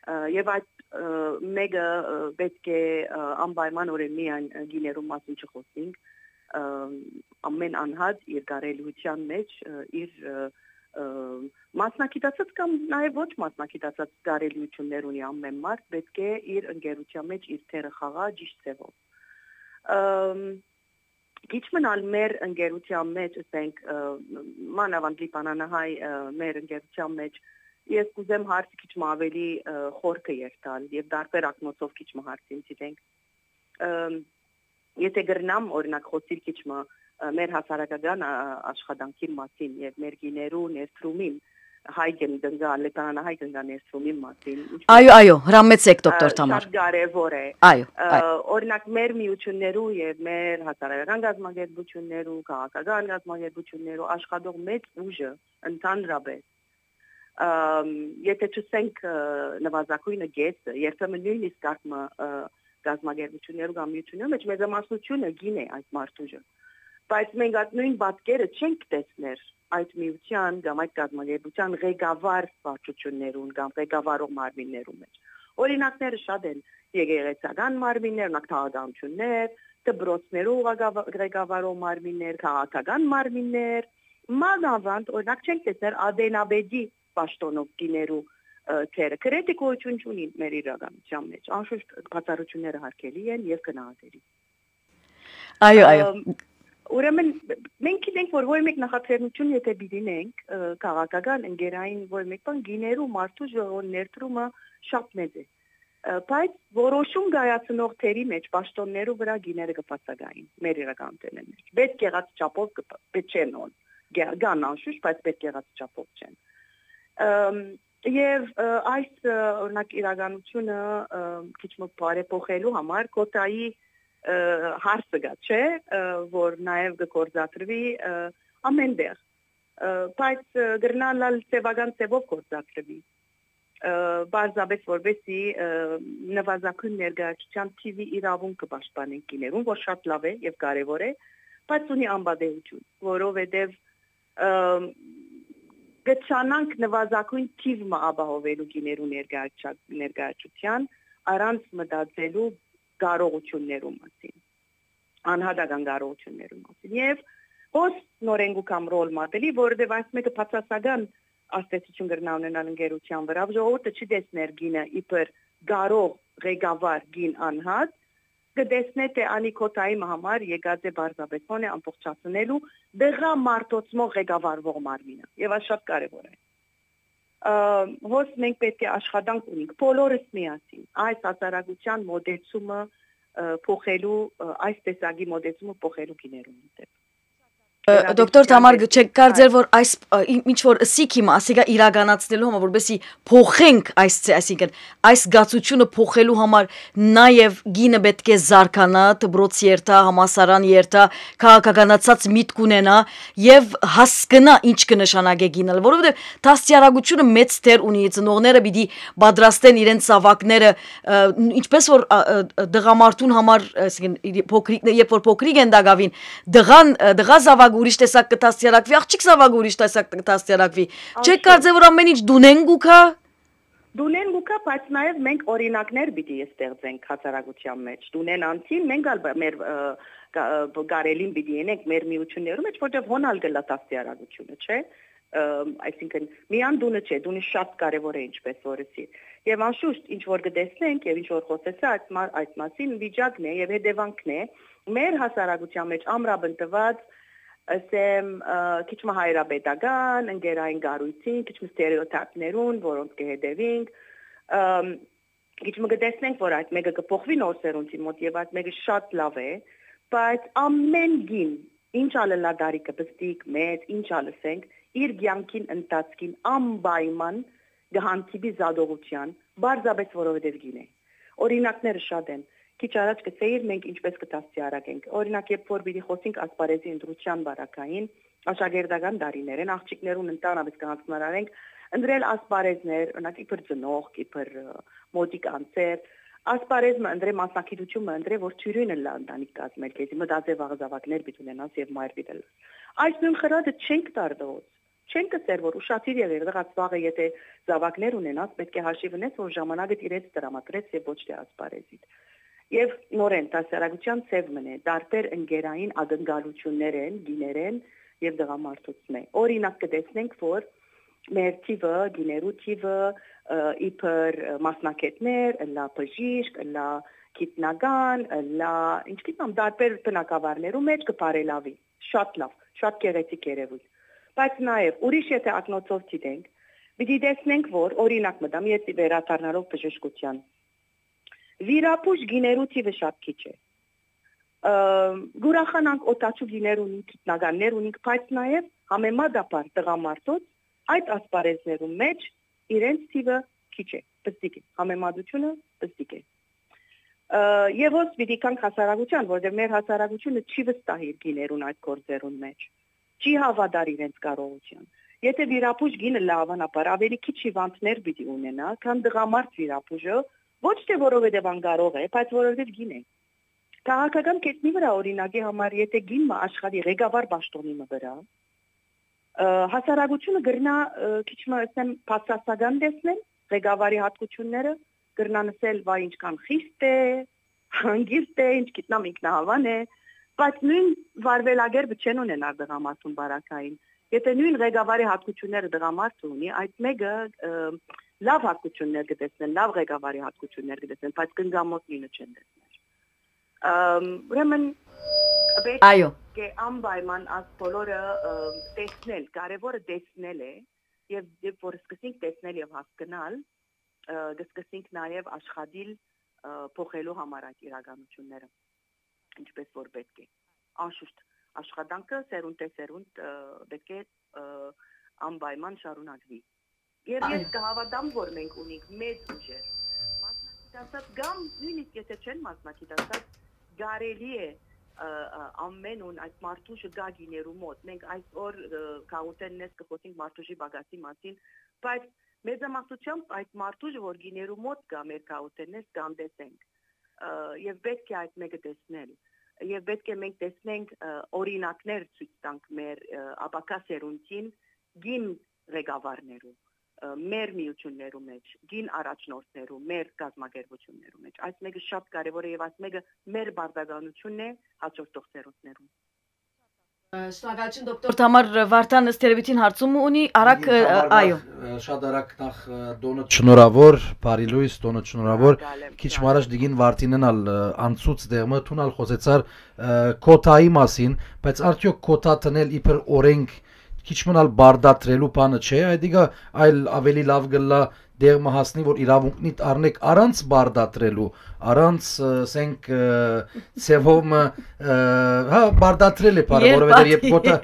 Ը, եւ այդ, ը, մէկը, ը, պէտք է, ը, անպայմանօրէն միայն, ը, կիներու մասին չխօսենք, ը, ամեն անհատ իր կարելիության մէջ, ը, իր, ը, ը, մասնագիտացած կամ նաեւ ոչ մասնագիտացած կարելիություններ ունի ամեն մարդ, պէտք է իր ընկերության մէջ իր թերը խաղայ ճիշտ ձեւով։ Ըմ, քիչ մնալ մեր ընկերության մէջ, ասենք, ը, մանաւանդ լիբանանահայ, ը, մեր ընկերության մէջ, ես կուզեմ հարցը քիչ մը աւելի, ը, խորքը երթալ եւ տարբեր ակնոցով քիչ մը հարցին դիտենք։ Ըմ, եթե կրնամ, օրինակ, խօսիլ քիչ մը, ը, մեր հասարակական, ա, ա, աշխատանքին մասին եւ մեր գիներու ներդրումին հայ կն-, կնկա, լեբանանահայ կնկա ներդրումին մասին, ինչպես Այո, այո, հրամեցեք, դոկտոր ը, Թամար։ շատ կարեւոր է։ Այո, Ը, այո։ օրինակ, մեր միություններու եւ մեր հասարակական կազմակերպություններու, քաղաքական կազմակերպություններու աշխատող մեծ ուժը ընդհանրապես, ըմ, եթե չսենք, ը, նվազագույնը կեսը, երբեմն նոյնիսկ ակմը, ը, կազմակերպություններու կամ միություններու մէջ մեծամասնությունը կին է այդ մարդուժը։ Բայց մենք այդ նոյն պատկերը չենք տեսներ այդ միության կամ այդ կազմակերպության ղեկավար վարչություններուն կամ ղեկավարող մարմիններու մէջ։ Օրինակները շատ են՝ եկեղեցական մարմիններ, օրինակ, թաղականություններ, դպրոցներու ղեկավա-, ղեկավարող մարմիններ, քաղաքական մարմիններ, մանաւանդ, օրինակ, չենք տեսներ ադենապետի պաշտոնով կիներու, ը, թերը։ Կրեդի գոյություն չունի մեր իրականության մէջ, անշուշտ բացառությունները հարգելի են եւ գնահատելի։ Այո, այո։ Ըմ, ուրեմն, մենք գիտենք, որ ոյ մէկ նախաձեռնություն եթե պիտի ունենք, ը, քաղաքական, ընկերային, ոյ մէկ բան, գիներու մարդու ժողովոն ներդրումը շատ մեծ է։ Ը, բայց որոշում կայացնող թերի մէջ պաշտոններու վրայ գիները կը բացակային մեր իրականութենէն մէջ։ Պետք եղած չափով կը, պ-, պէ չեն օն, գե-, կան անշուշտ, բայց պետք եղած չափով չեն։ Ըմ, եւ, ը, այս, ը, օրինակ, իրականությունը, ը, քիչ մը բարեփոխելու համար կոտայի, ը, հարցը կա, չէ՞, ը, որ նաեւ կը գործադրուի, ը, ամեն տեղ, Ը, բայց, ը, կրնան ալ սեւական ձեւով գործադրուի։ Ը, պարզապէս որպեսզի, ը, նվազագոյն ներկայացուցչան թիւի իրաւունքը պաշտպանենք կիներուն, որ շատ լաւ է եւ կարեւոր է, բայց ունի անպատեհութիւն, որովհետեւ, ը, կը չանանք նվազագոյն թիւ մը ապահովելու կիներու ներկայացա-, ներկայացուցչան, առանց մտածելու կարողութիւններու մասին, անհատական կարողութիւններու մասին։ Եւ հոս նորեն կու կամ ռոլ մատելի, որովհետեւ այս մէկը բացասական ազդեցութիւն կրնայ ունենալ ընկերության վրայ։ Ժողովուրդը չի տեսներ կինը իբր կարող ղեկավար կին անհատ, կը տեսնէ թէ անի քոթայի մը համար եկած է պարզապէս հոն է ամբողջացնելու դղա մարդոցմող ղեկավարվող մարմինը։ Եւ այս շատ կարեւոր է։ Ը, հոս մենք պէտք է աշխատանք ունենք բոլորս միասին այս հասարակության մոտեցումը, ը, փոխելու, ը, այս տեսակի մոտեցումը փոխելու կիներուն դէպ։ Ը, դոկտոր Թամար, չեք կարծեր, որ այս, ը, ի-, ինչ որ ըսիք հիմա, ասիկա իրականացնելու համար, որպեսզի փոխենք այս ցե-, այսինքն այս գացությունը փոխելու համար նաև գինը պէտք է զարգանա, դպրոց երթա, համալսարան երթա, քաղաքականացած միտք ունենա եւ հասկնա ինչ կը նշանակէ գինը, որովհետեւ դաստիարակությունը մեծ դեր ունի, ծնողները պիտի պատրաստեն իրենց զաւակները, ը, ինչպես որ, ա, ը, ը, դղամարդուն համար, այսինքն, իր փոքրիկ, երբ որ փոքրիկ են տակավին, դղան, ը, դղա զաւակ ուրիշ տեսակ կը դաստիարակուի, աղջիկ զաւակ ուրիշ տեսակ կը դաստիարակուի։ Չեք կարծեր, որ ամեն ինչ դունեն գուքա։ Դունեն գուքա, բայց նաև մենք օրինակներ պիտի ստեղծենք հասարակության մեջ։ Դունեն անցին մենք ալ բ-, մեր, ը, կա-, ը, բ-, կարելին պիտի ենենք մեր միություններու մեջ, որտեղ հոն ալ գլա դաստիարակությունը, չէ՞։ Ը, այսինքն, միան դունը չէ, դունը շատ կարևոր է, ինչպես որ ըսի։ Եվ անշուշտ, ինչ որ կտեսնենք եւ ինչ որ խոսեցա, այդ մա-, այդ մասին վիճակն է եւ հետևանքն է մեր հասարակության մեջ ամրապնդված, ասեմ, ը, քիչ մը հայրապետական, ընկերային կառույցին, քիչ մը ստերեոտիպներուն, որոնց կը հետևինք, ըմ, քիչ մը կտեսնենք, որ այդ մէկը կը փոխուի նոր սերունդին մօտ եւ այդ մէկը շատ լաւ է, բայց ամեն կին, ինչ ալ ըլլայ տարիքը պստիկ, մեծ, ինչ ալ ըսենք, իր կեանքին ընթացքին անպայման կը հանդիպի զատողութեան, պարզապէս որովհետեւ կին է։ Օրինակները շատ են։ Քիչ առաջ կսեիր մենք ինչպես կը դաստիարակենք։ Օրինակ, երբ որ պիտի խոսենք ասպարէզի ընտրութեան պարագային, աշակերտական տարիներէն աղջիկներուն ընդհանրապէս կը յանձնարարենք ընտրել ասպարէզներ, օրինակ, իբր ծնողք, իբր, ը, մօտիկ անձեր, ասպարէզ մը ընտրէ, մասնագիտութիւն մը ընտրէ, որ թիւրին ըլլայ ընտանիք կազմել քեզի, մտածէ վաղը զաւակներ պիտի ունենաս եւ մայր պիտի ըլլաս։ Այս նոյն խրատը չենք տար տղոց, չենք ըսեր, որ ուշադիր եղիր, տղաս, վաղը եթէ զաւակներ ունենաս, պէտք է հաշիւ ունես, որ ժամանակդ իրենց տրամադրես եւ ոչ թէ ասպարէզիդ։ Եվ նորեն, դասարակութեան ձեւ մըն է, տարբեր ընկերային ակնկալություններ են, կիներեն եւ տղամարդոցմէ։ Օրինակ կտեսնենք, որ մեր թիվը, կիներու թիվը, ը, իբր, ը, մասնագետներ, ըլլայ բժիշկ, ըլլայ գիտնական, ըլլայ, ինչ գիտեմ, տարբեր բնակավարներու մեջ կը բարելավի։ Շատ լաւ, շատ գեղեցիկ երեւոյթ։ Բայց նաեւ ուրիշ եթէ ակնոցով դիտենք, պիտի տեսնենք, որ, օրինակ մտամ, ես վերադառնալով բժշկութեան, վիրաբույժ կիներու թիվը շատ քիչ է։ Ը, կուրախանանք օդաչու կիներ ունինք, գիտնականներ ունինք, բայց նաեւ համեմատաբար տղամարդոց այդ ասպարեզներու մեջ իրենց թիվը քիչ է, պստիկ է, համեմատությունը պստիկ է։ Ը, եւ հոս պիտի գանք հասարակության, որտեղ մեր հասարակությունը չի վստահ իր կիներուն այդ գործերուն մեջ, չի հաւատար իրենց կարողութեան։ Եթէ վիրաբույժ կինը լավանաբար ավելի քիչ հիվանդներ պիտի ունենայ, քան տղամարդ վիրաբույժը, ոչ թէ որովհետեւ անկարող է, բայց որովհետեւ կին է։ Քաղաքական կետնի վրայ, օրինակի համար, եթէ կին մը աշխատի ղեկավար պաշտոնի մը վրայ, ը, հասարակությունը կրնայ, ը, քիչ մը, ասեմ, բացասական տեսնել ղեկավարի հատկությունները, կրնան ասել, «Վայ, ինչքան խիստ է, հանգիստ է, ինչ գիտնամ, ինքնահավան է», բայց նոյն վարվելակերպը չեն ունենար տղամարդուն պարագային։ Եթէ նոյն ղեկավարի հատկությունները տղամարդը ունի, այդ մէկը, ը, լաւ հատկություններ կը տեսնեն, լաւ ղեկավարի հատկություններ կը տեսնեն, բայց կնկամոտ նոյնը չեն տեսներ։ Ըմ, ուրեմն, պէտք Այո։ է անպայման աս բոլորը, ը, տեսնել, կարևորը տեսնել է, եւ երբ որ սկսենք տեսնել եւ հասկնալ, ը, կսկսենք նաեւ աշխատիլ, ը, փոխելու համար այդ իրականությունները, ինչպես որ պէտք է։ Անշուշտ, աշխատանքը սերունդէ սերունդ, ը, պէտք է, ը, անպայման շարունակվի։ Եվ ես Այո։ կհաւատամ, որ մենք ունենք մեծ ուժեր, մասնագիտացած կամ նոյնիսկ եթէ չեն մասնագիտացած, կարելի է Ը, ը, ամեն օր այդ մարդուժը կա գիներու մոտ։ Մենք այսօր, ը, գաղութեն ներս կը խօսենք մարդուժի պակասի մասին, բայց մեծամասնությամբ այդ մարդուժը, որ գիներու մոտ կա մեր գաղութեն ներս, կ'անտեսենք։ Ը, եւ պէտք է այդ մէկը տեսնել։ Եւ պէտք է մենք տեսնենք, ը, օրինակներ ցոյց տանք մեր, ը, ապագայ սերունդին, կին ղեկավարներու, ը, մեր միութիւններու մէջ, կին առաջնորդներու, մեր կազմակերպութիւններու մէջ։ Այս մէկը շատ կարեւոր է եւ այս մէկը մեր պարտականութիւնն է հաջորդող սերունդներուն։ Ը, շնորհակալություն, դոկտոր Թամար Վարդան, ըստ երևույթին հարցում ունի, արագ, Ին ը, Թամար այո։ Նախ, ը, շատ արագ նախ, ը, տոնը շնորհավոր, բարի լոյս, տոնը շնորհավոր։ Շնորհակալ եմ, Քիչ շնորհակալ մառաջ եմ։ Դիգին Վարդինեն ալ, ը, անցուց դեղմը, թուն ալ խօսեցար, ը, քոթայի մասին, բայց արդյոք քոթա դնել իբր օրենք քիչ մըն ալ բարդատրելու բանը չէ, այդիկա այլ ավելի լավ կ'ըլլայ դեղ մը հասնի, որ իրաւունքնիդ առնեք առանց բարդատրելու, առանց, ը, ասենք, ը, ձևով մը, ը, հա, բարդատրել է բանը, Երբ որովհետեւ երբ բա- քոթա,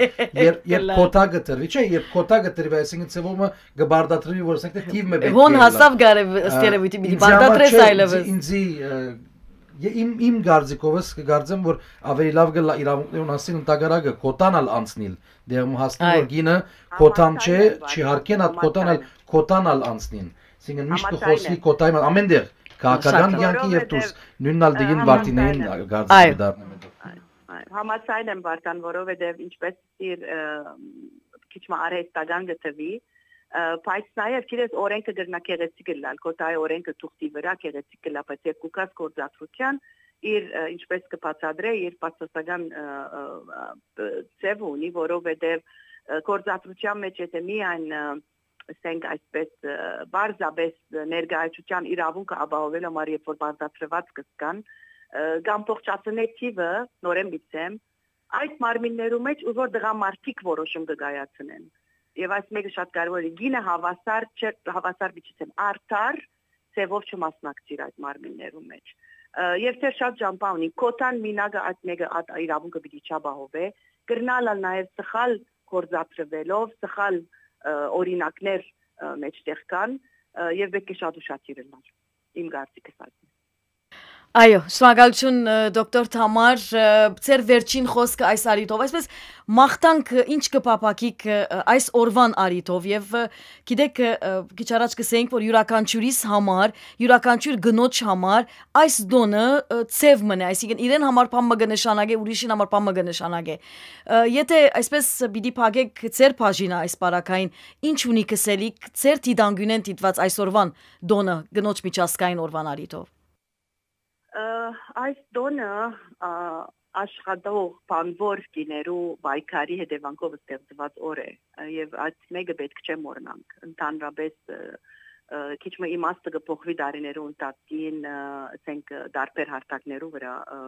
երբ, երբ Կլա- քոթա կտրվի, չէ, երբ քոթա կտրվի, այսինքն ձևով մը կբարդատրվի, որ ասենք թե թիվ մը պէտք Հոն է ըլլայ։ Հասաւ գարեւ, ըստ Ա, երևույթին պիտի ինձի համար բարդատրես չէ, այլեւս։ Ինձի, ինձի, ը, ե-, իմ, իմ կարծիքովս կկարծեմ, որ ավելի լավ կ'ըլլայ իրաւունքներուն հասին ընդհակառակը քոթան ալ անցնիլ, դեղ մը հասնի, Այ։ որ գինը քոթան չէ, Համաձայն եմ, չի հարկեն, այդ քոթան ալ, Համաձայն եմ։ քոթան ալ անցնին։ Այսինքն միշտ կը Համաձայն խօսի եմ։ քոթայի մը-, ամեն դեղ, քաղաքական Շատ կյանքի եւ Որովհետև, դուրս, նույնն ալ դիգին ը, Վարդինային Համաձայն եմ։ կարծիքը Այո։ կդառնա մենակ։ Այ, այ, համաձայն եմ, Վարդան, որովհետև ինչպես իր, ը, քիչ մը արհեստական կը թվի, ը, բայց նաև, գիտես, օրենքը կրնա գեղեցիկ ըլլալ, քոթայի օրենքը թուղթի վրայ գեղեցիկ կլա, բայց երբ կու գաս գործադրության, իր, ը, ինչպես կը բացատրե, իր բացասական, ը, ը, ը, ձևը ունի, որովհետև, ը, գործադրության մեջ եթե միայն, ը, ասենք այսպես, ը, պարզապես ներկայացության իրավունքը ապահովելու համար, երբ որ պարտադրված կսկան, ը, կ'ամբողջացնէ թիվը, նորեն պիտի ասեմ, այդ մարմիններու մեջ, ուր որ տղամարդիկ որոշում կը կայացնեն։ Եվ այս մեկը շատ կարևոր է, գինը հավասար չէ, հավասար պիտի ասեմ, արդար ձևով չմասնակցիր այդ մարմիններու մեջ։ Ը, եւ դեռ շատ ճամբայ ունի, քոթան մինակը այդ մեկը այդ իրավունքը պիտի չապահովէ, կրնալ ալ նաև սխալ գործադրվելով, սխալ, ը, օրինակներ, ը, մեջտեղ կան, ը, եւ պէտք է շատ ուշադիր ըլլալ, իմ կարծիքս այս է։ Այո, շնորհակալություն, ը, դոկտոր Թամար, ը, ձեր վերջին խոսքը այս առիթով, այսպես մաղթանք, ը, ինչ կը փափաքիք, ը, այս օրվան առիթով, եւ, ը, գիտեք, ը, ը, քիչ առաջ կսեինք, որ յուրաքանչիուրիս համար, յուրաքանչիւր կնոջ համար այս տոնը, ը, ձեւ մըն է, այսինքն իրեն համար բան մը կը նշանակէ, ուրիշին համար բան մը կը նշանակէ։ Ը, եթե այսպես պիտի փակեք ձեր բաժինը այս պարագային, ինչ ունի կսելիք ձեր դիտանկիւնէն դիտուած այսօրվան տոնը, կնոջ միջազգային օրվան առիթով։ Ը, այս տոնը, ա, աշխատող բանվոր կիներու պայքարի հետևանքով ստեղծուած օր է, ը, եւ այդ մեկը պէտք չէ մոռնանք։ Ընդհանրապես, ը, ը, քիչ մը իմաստը կը փոխուի տարիներու ընթացքին, ը, ասենք, ը, տարբեր հարթակներու վրայ, ը,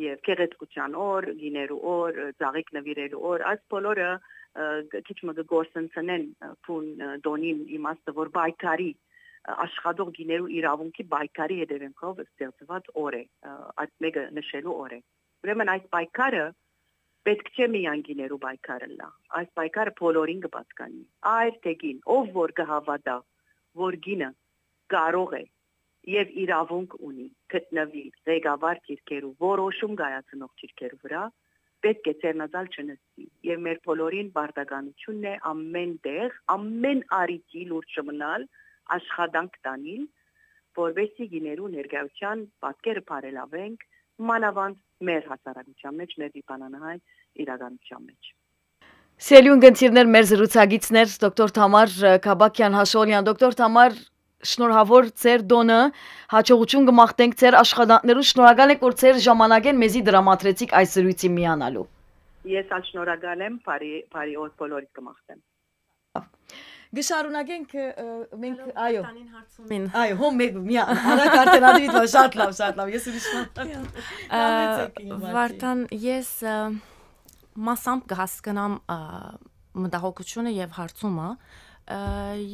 եւ գեղեցկության օր, գիներու օր, ը, ծաղիկ նվիրելու օր, այս բոլորը, ը, կ-, քիչ մը կը գործընծնեն, ը, բուն, ը, տոնին իմաստը, որ պայքարի, ը, աշխատող գիներու իրավունքի պայքարի հետևանքով ստեղծուած օր է, ը, այդ մեկը նշելու օր է։ Ուրեմն այս պայքարը պէտք չէ միայն գիներու պայքար ըլլայ, այս պայքարը բոլորին կը պատկանի, այր թե կին, ով որ կը հաւատայ, որ գինը կարող է եւ իրաւունք ունի գտնուի ղեկավար դիրքերու, որոշում կայացնող դիրքերու վրայ, պէտք է ձեռնածալ չնստի։ Եւ մեր բոլորին պարտականութիւնն է ամեն տեղ, ամեն առիթի լուրջ մնալ, աշխատանք տանիլ, որպեսզի գիներու ներկայության պատկերը բարելավենք, մանաւանդ մեր հասարակության մեջ, մեր Լիբանանահայ իրականության մեջ։ Սիրելի ունգընտիրներ, մեր զրուցակիցներ, դոկտոր Թամար, ը, Քաբաքյան Հաշոլյան։ Դոկտոր Թամար, շնորհավոր ձեր տոնը, հաջողություն կը մաղթենք ձեր աշխատանքներուն, շնորհակալ ենք, որ ձեր ժամանակէն մեզի դրամատրեցիք այս զրույցին միանալու։ Ես ալ շնորհակալ եմ, բարի, բարի օր բոլորիդ կը մաղթեմ։ Կը շարունակենք, ը, մենք, այո։ Վարդանին հարցումին։ Այո, հոն մեկ, միա, արագ արդեն ադվիտ վա, շատ լավ, շատ լավ, ես ուրիշ բան։ Ա, Լավ եցեք, իմ Վարդան, ես, ը, մասամբ կհասկնամ, ա, մտահոգությունը եւ հարցումը, ը,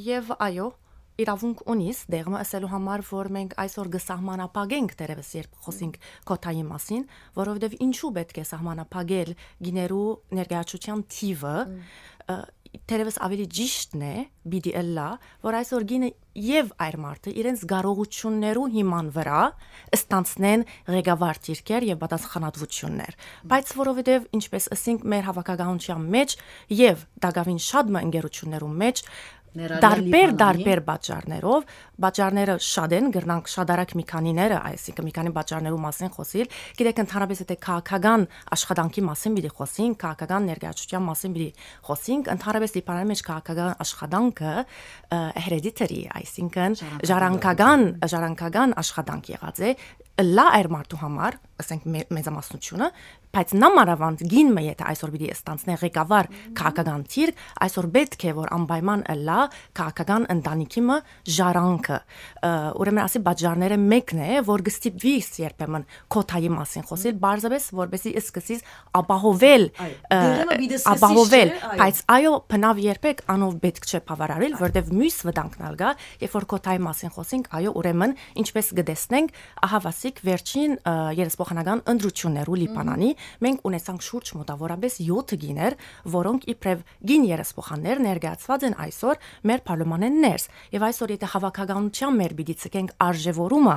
եւ այո, իրավունք ունիս դեղմը ասելու համար, որ մենք այսօր կը սահմանափակենք, դերևս երբ խոսենք քոթայի մասին, որովհետեւ ինչու պէտք է սահմանափակել գիներու ներկայացուցչական թիվը, Մմ։ ը, Թերեւս ավելի ճիշդն է, պիտի ըլլայ, որ այսօր կինը եւ այր մարդը իրենց կարողութիւններու հիման վրայ ստանցնեն ղեկավար դիրքեր եւ պատասխանատվութիւններ։ Բայց որովհետեւ, ինչպես ըսինք, մեր հաւաքականութեան մէջ եւ տակաւին շատ մը ընկերութիւններու մէջ, ներառյալ տարբեր, Լիբանանի, տարբեր պատճառներով, պատճառները շատ են, կրնանք շատ արագ մի քանիները, այսինքն՝ մի քանի պատճառներու մասին խօսիլ։ Գիտեք, ընդհանրապես, եթե քաղաքական աշխատանքի մասին պիտի խօսինք, քաղաքական ներկայացուցչութեան մասին պիտի խօսինք, ընդհանրապես Լիբանանի մէջ քաղաքական աշխատանքը, ը, hereditary, այսինքն՝ ժառանգական, ժառանգական, ժառանգական աշխատանք եղած է, ըլլայ այր մարդու համար, ասենք, մե-, մեծամասնությունը, բայց նամանավանդ կին մը, եթե այսօր պիտի ստանցնէ ղեկավար քաղաքական դիրք, այսօր պէտք է, որ անպայման ըլլայ քաղաքական ընտանիքի մը ժառանգը։ Ը, ուրեմն, ասի պատճառները մեկն է, որ կը ստիպվի երբեմն քոթայի մասին խօսիլ, պարզապէս որպեսզի սկսես ապահովել, այ, ը, դերը մը պիտի սկսես, ապահովել, չէ՞, այո։ Բայց այո, բնաւ երբեք անով պէտք չէ բաւարարել, որտեւ միւս վտանգն ալ կա, երբ որ քոթայի մասին խօսինք, այո, ուրեմն, ինչպես կը տեսնենք, ահաւասիկ վերջին, ը, երեսփոխանական ընտրութիւններու Լիբանանի մենք ունեցանք շուրջ մոտավորապես յոթ կիներ, որոնք իբրեւ կին երեսփոխաններ ներկայացուած են այսօր մեր պարլմանէն ներս։ Եւ այսօր, եթե հաւաքականութեան մեր պիտի ցկենք արժեվորումը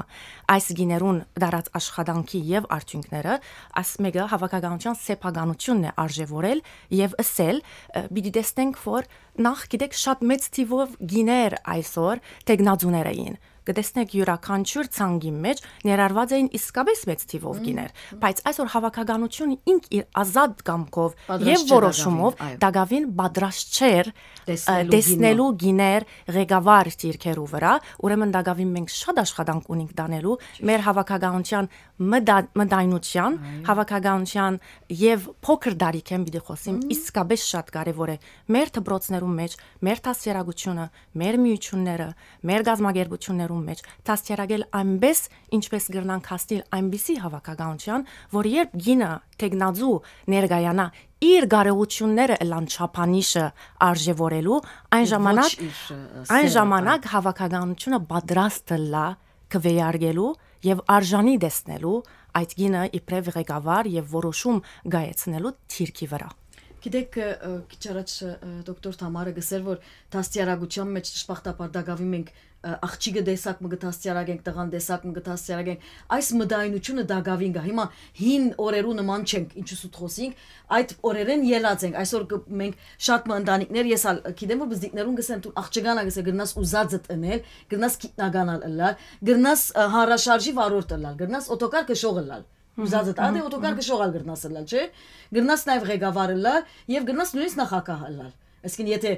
այս կիներուն դարած աշխատանքի եւ արդիւնքները, այս մէկը հաւաքականութեան սեփականութիւնն է արժեվորել եւ ըսել, ը, պիտի տեսնենք, որ նախ, գիտեք, շատ մեծ թիւով կիներ այսօր թեկնածուներ էին։ Կը տեսնեք, իւրաքանչիւր ցանկի մէջ ներառուած էին իսկապէս մեծ թիւով կիներ, բայց այսօր հաւաքականութիւնը ինք իր ազատ կամքով եւ պատրաստ չէ որոշումով տակաւին, այո, տակաւին պատրաստ չէր, ը, տեսնելու, տեսնելու կինը, կիներ ղեկավար դիրքերու վրայ, ուրեմն տակաւին մենք շատ աշխատանք ունենք տանելու մեր հաւաքականութեան մտա-, մտայնութեան, այո, հաւաքականութեան եւ փոքր տարիքէն պիտի խօսիմ, մհմ, իսկապէս շատ կարեւոր է մեր դպրոցներու մէջ, մեր դաստիարակութիւնը, մեր միութիւնները, մեր կազմակերպութիւններու մէջ դաստիարակել այնպէս, ինչպես կրնանք հասնիլ այնպիսի հաւաքականութեան, որ երբ կինը թեկնածու ներկայանայ, իր կարողութիւնները ըլլան չափանիշը արժեվորելու, այն, ոչ ժամանակ, իր, ը, այն սերը, ժամանակ այո, հաւաքականութիւնը պատրաստ ըլլայ քուէարկելու եւ արժանի տեսնելու այդ կինը իբրեւ ղեկավար եւ որոշում կայացնելու դիրքի վրայ։ Գիտեք, ը, քիչ առաջ, ը, դոկտոր Թամարը գսեր, որ դաստիարակութեան մէջ, դժբախտաբար, տակաւին մենք, ը, աղջիկը տեսակ մը կը դաստիարակենք, տղան տեսակ մը կը դաստիարակենք, այս մտայնութիւնը տակաւին կայ։ Հիմա հին օրերու նման չենք, ինչու սուտ խօսինք, այդ օրերէն ելած ենք։ Այսօր կը, մենք շատ մը ընտանիքներ, ես ալ գիտեմ, որ բզդիկներուն գսեն, դու աղջկան ա գսե, կրնաս ուզածդ ընել, կրնաս գիտնական ալ ըլլալ, կրնաս, ը, հանրաշարժի վարորդ ըլլալ, կրնաս օտոկար քշող ըլլալ։ Ուզածդ, ադէ օտոկար քշող ալ կրնաս ըլլալ, չէ՞։ Կրնաս նաեւ ղեկավար ըլլալ եւ կրնաս նոյնիսկ նախագահ ըլլալ։ Այսինքն, եթե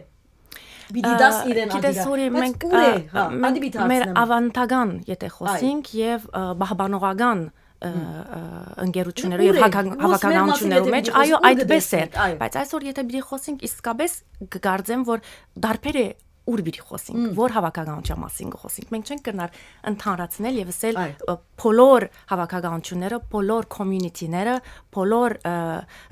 պիտի, ա, դաս իրեն գիտես, ադիգա, Ուրի, բայց մենք, ուր է, ա, հա, մենք ադի պիտի մեր հարցնեմ, ավանդական, եթե, այ, խօսինք, եւ, ա, պահպանողական, ա, մ, ա, ընկերություններու եւ, ուր է, հակա-, ո-, հաւաքականություններու մէջ, այո, այդպես էր։ Այո։ Բայց այսօր, եթե պիտի խօսինք, իսկապէս կկարծեմ, որ դարբեր է ուր պիտի խօսինք, մ, որ հաւաքականության մասին կը խօսինք։ Մենք չենք կրնար ընդհանրացնել եւ ասել, այո, ը, բոլոր հաւաքականությունները, բոլոր community-ները, բոլոր, ը,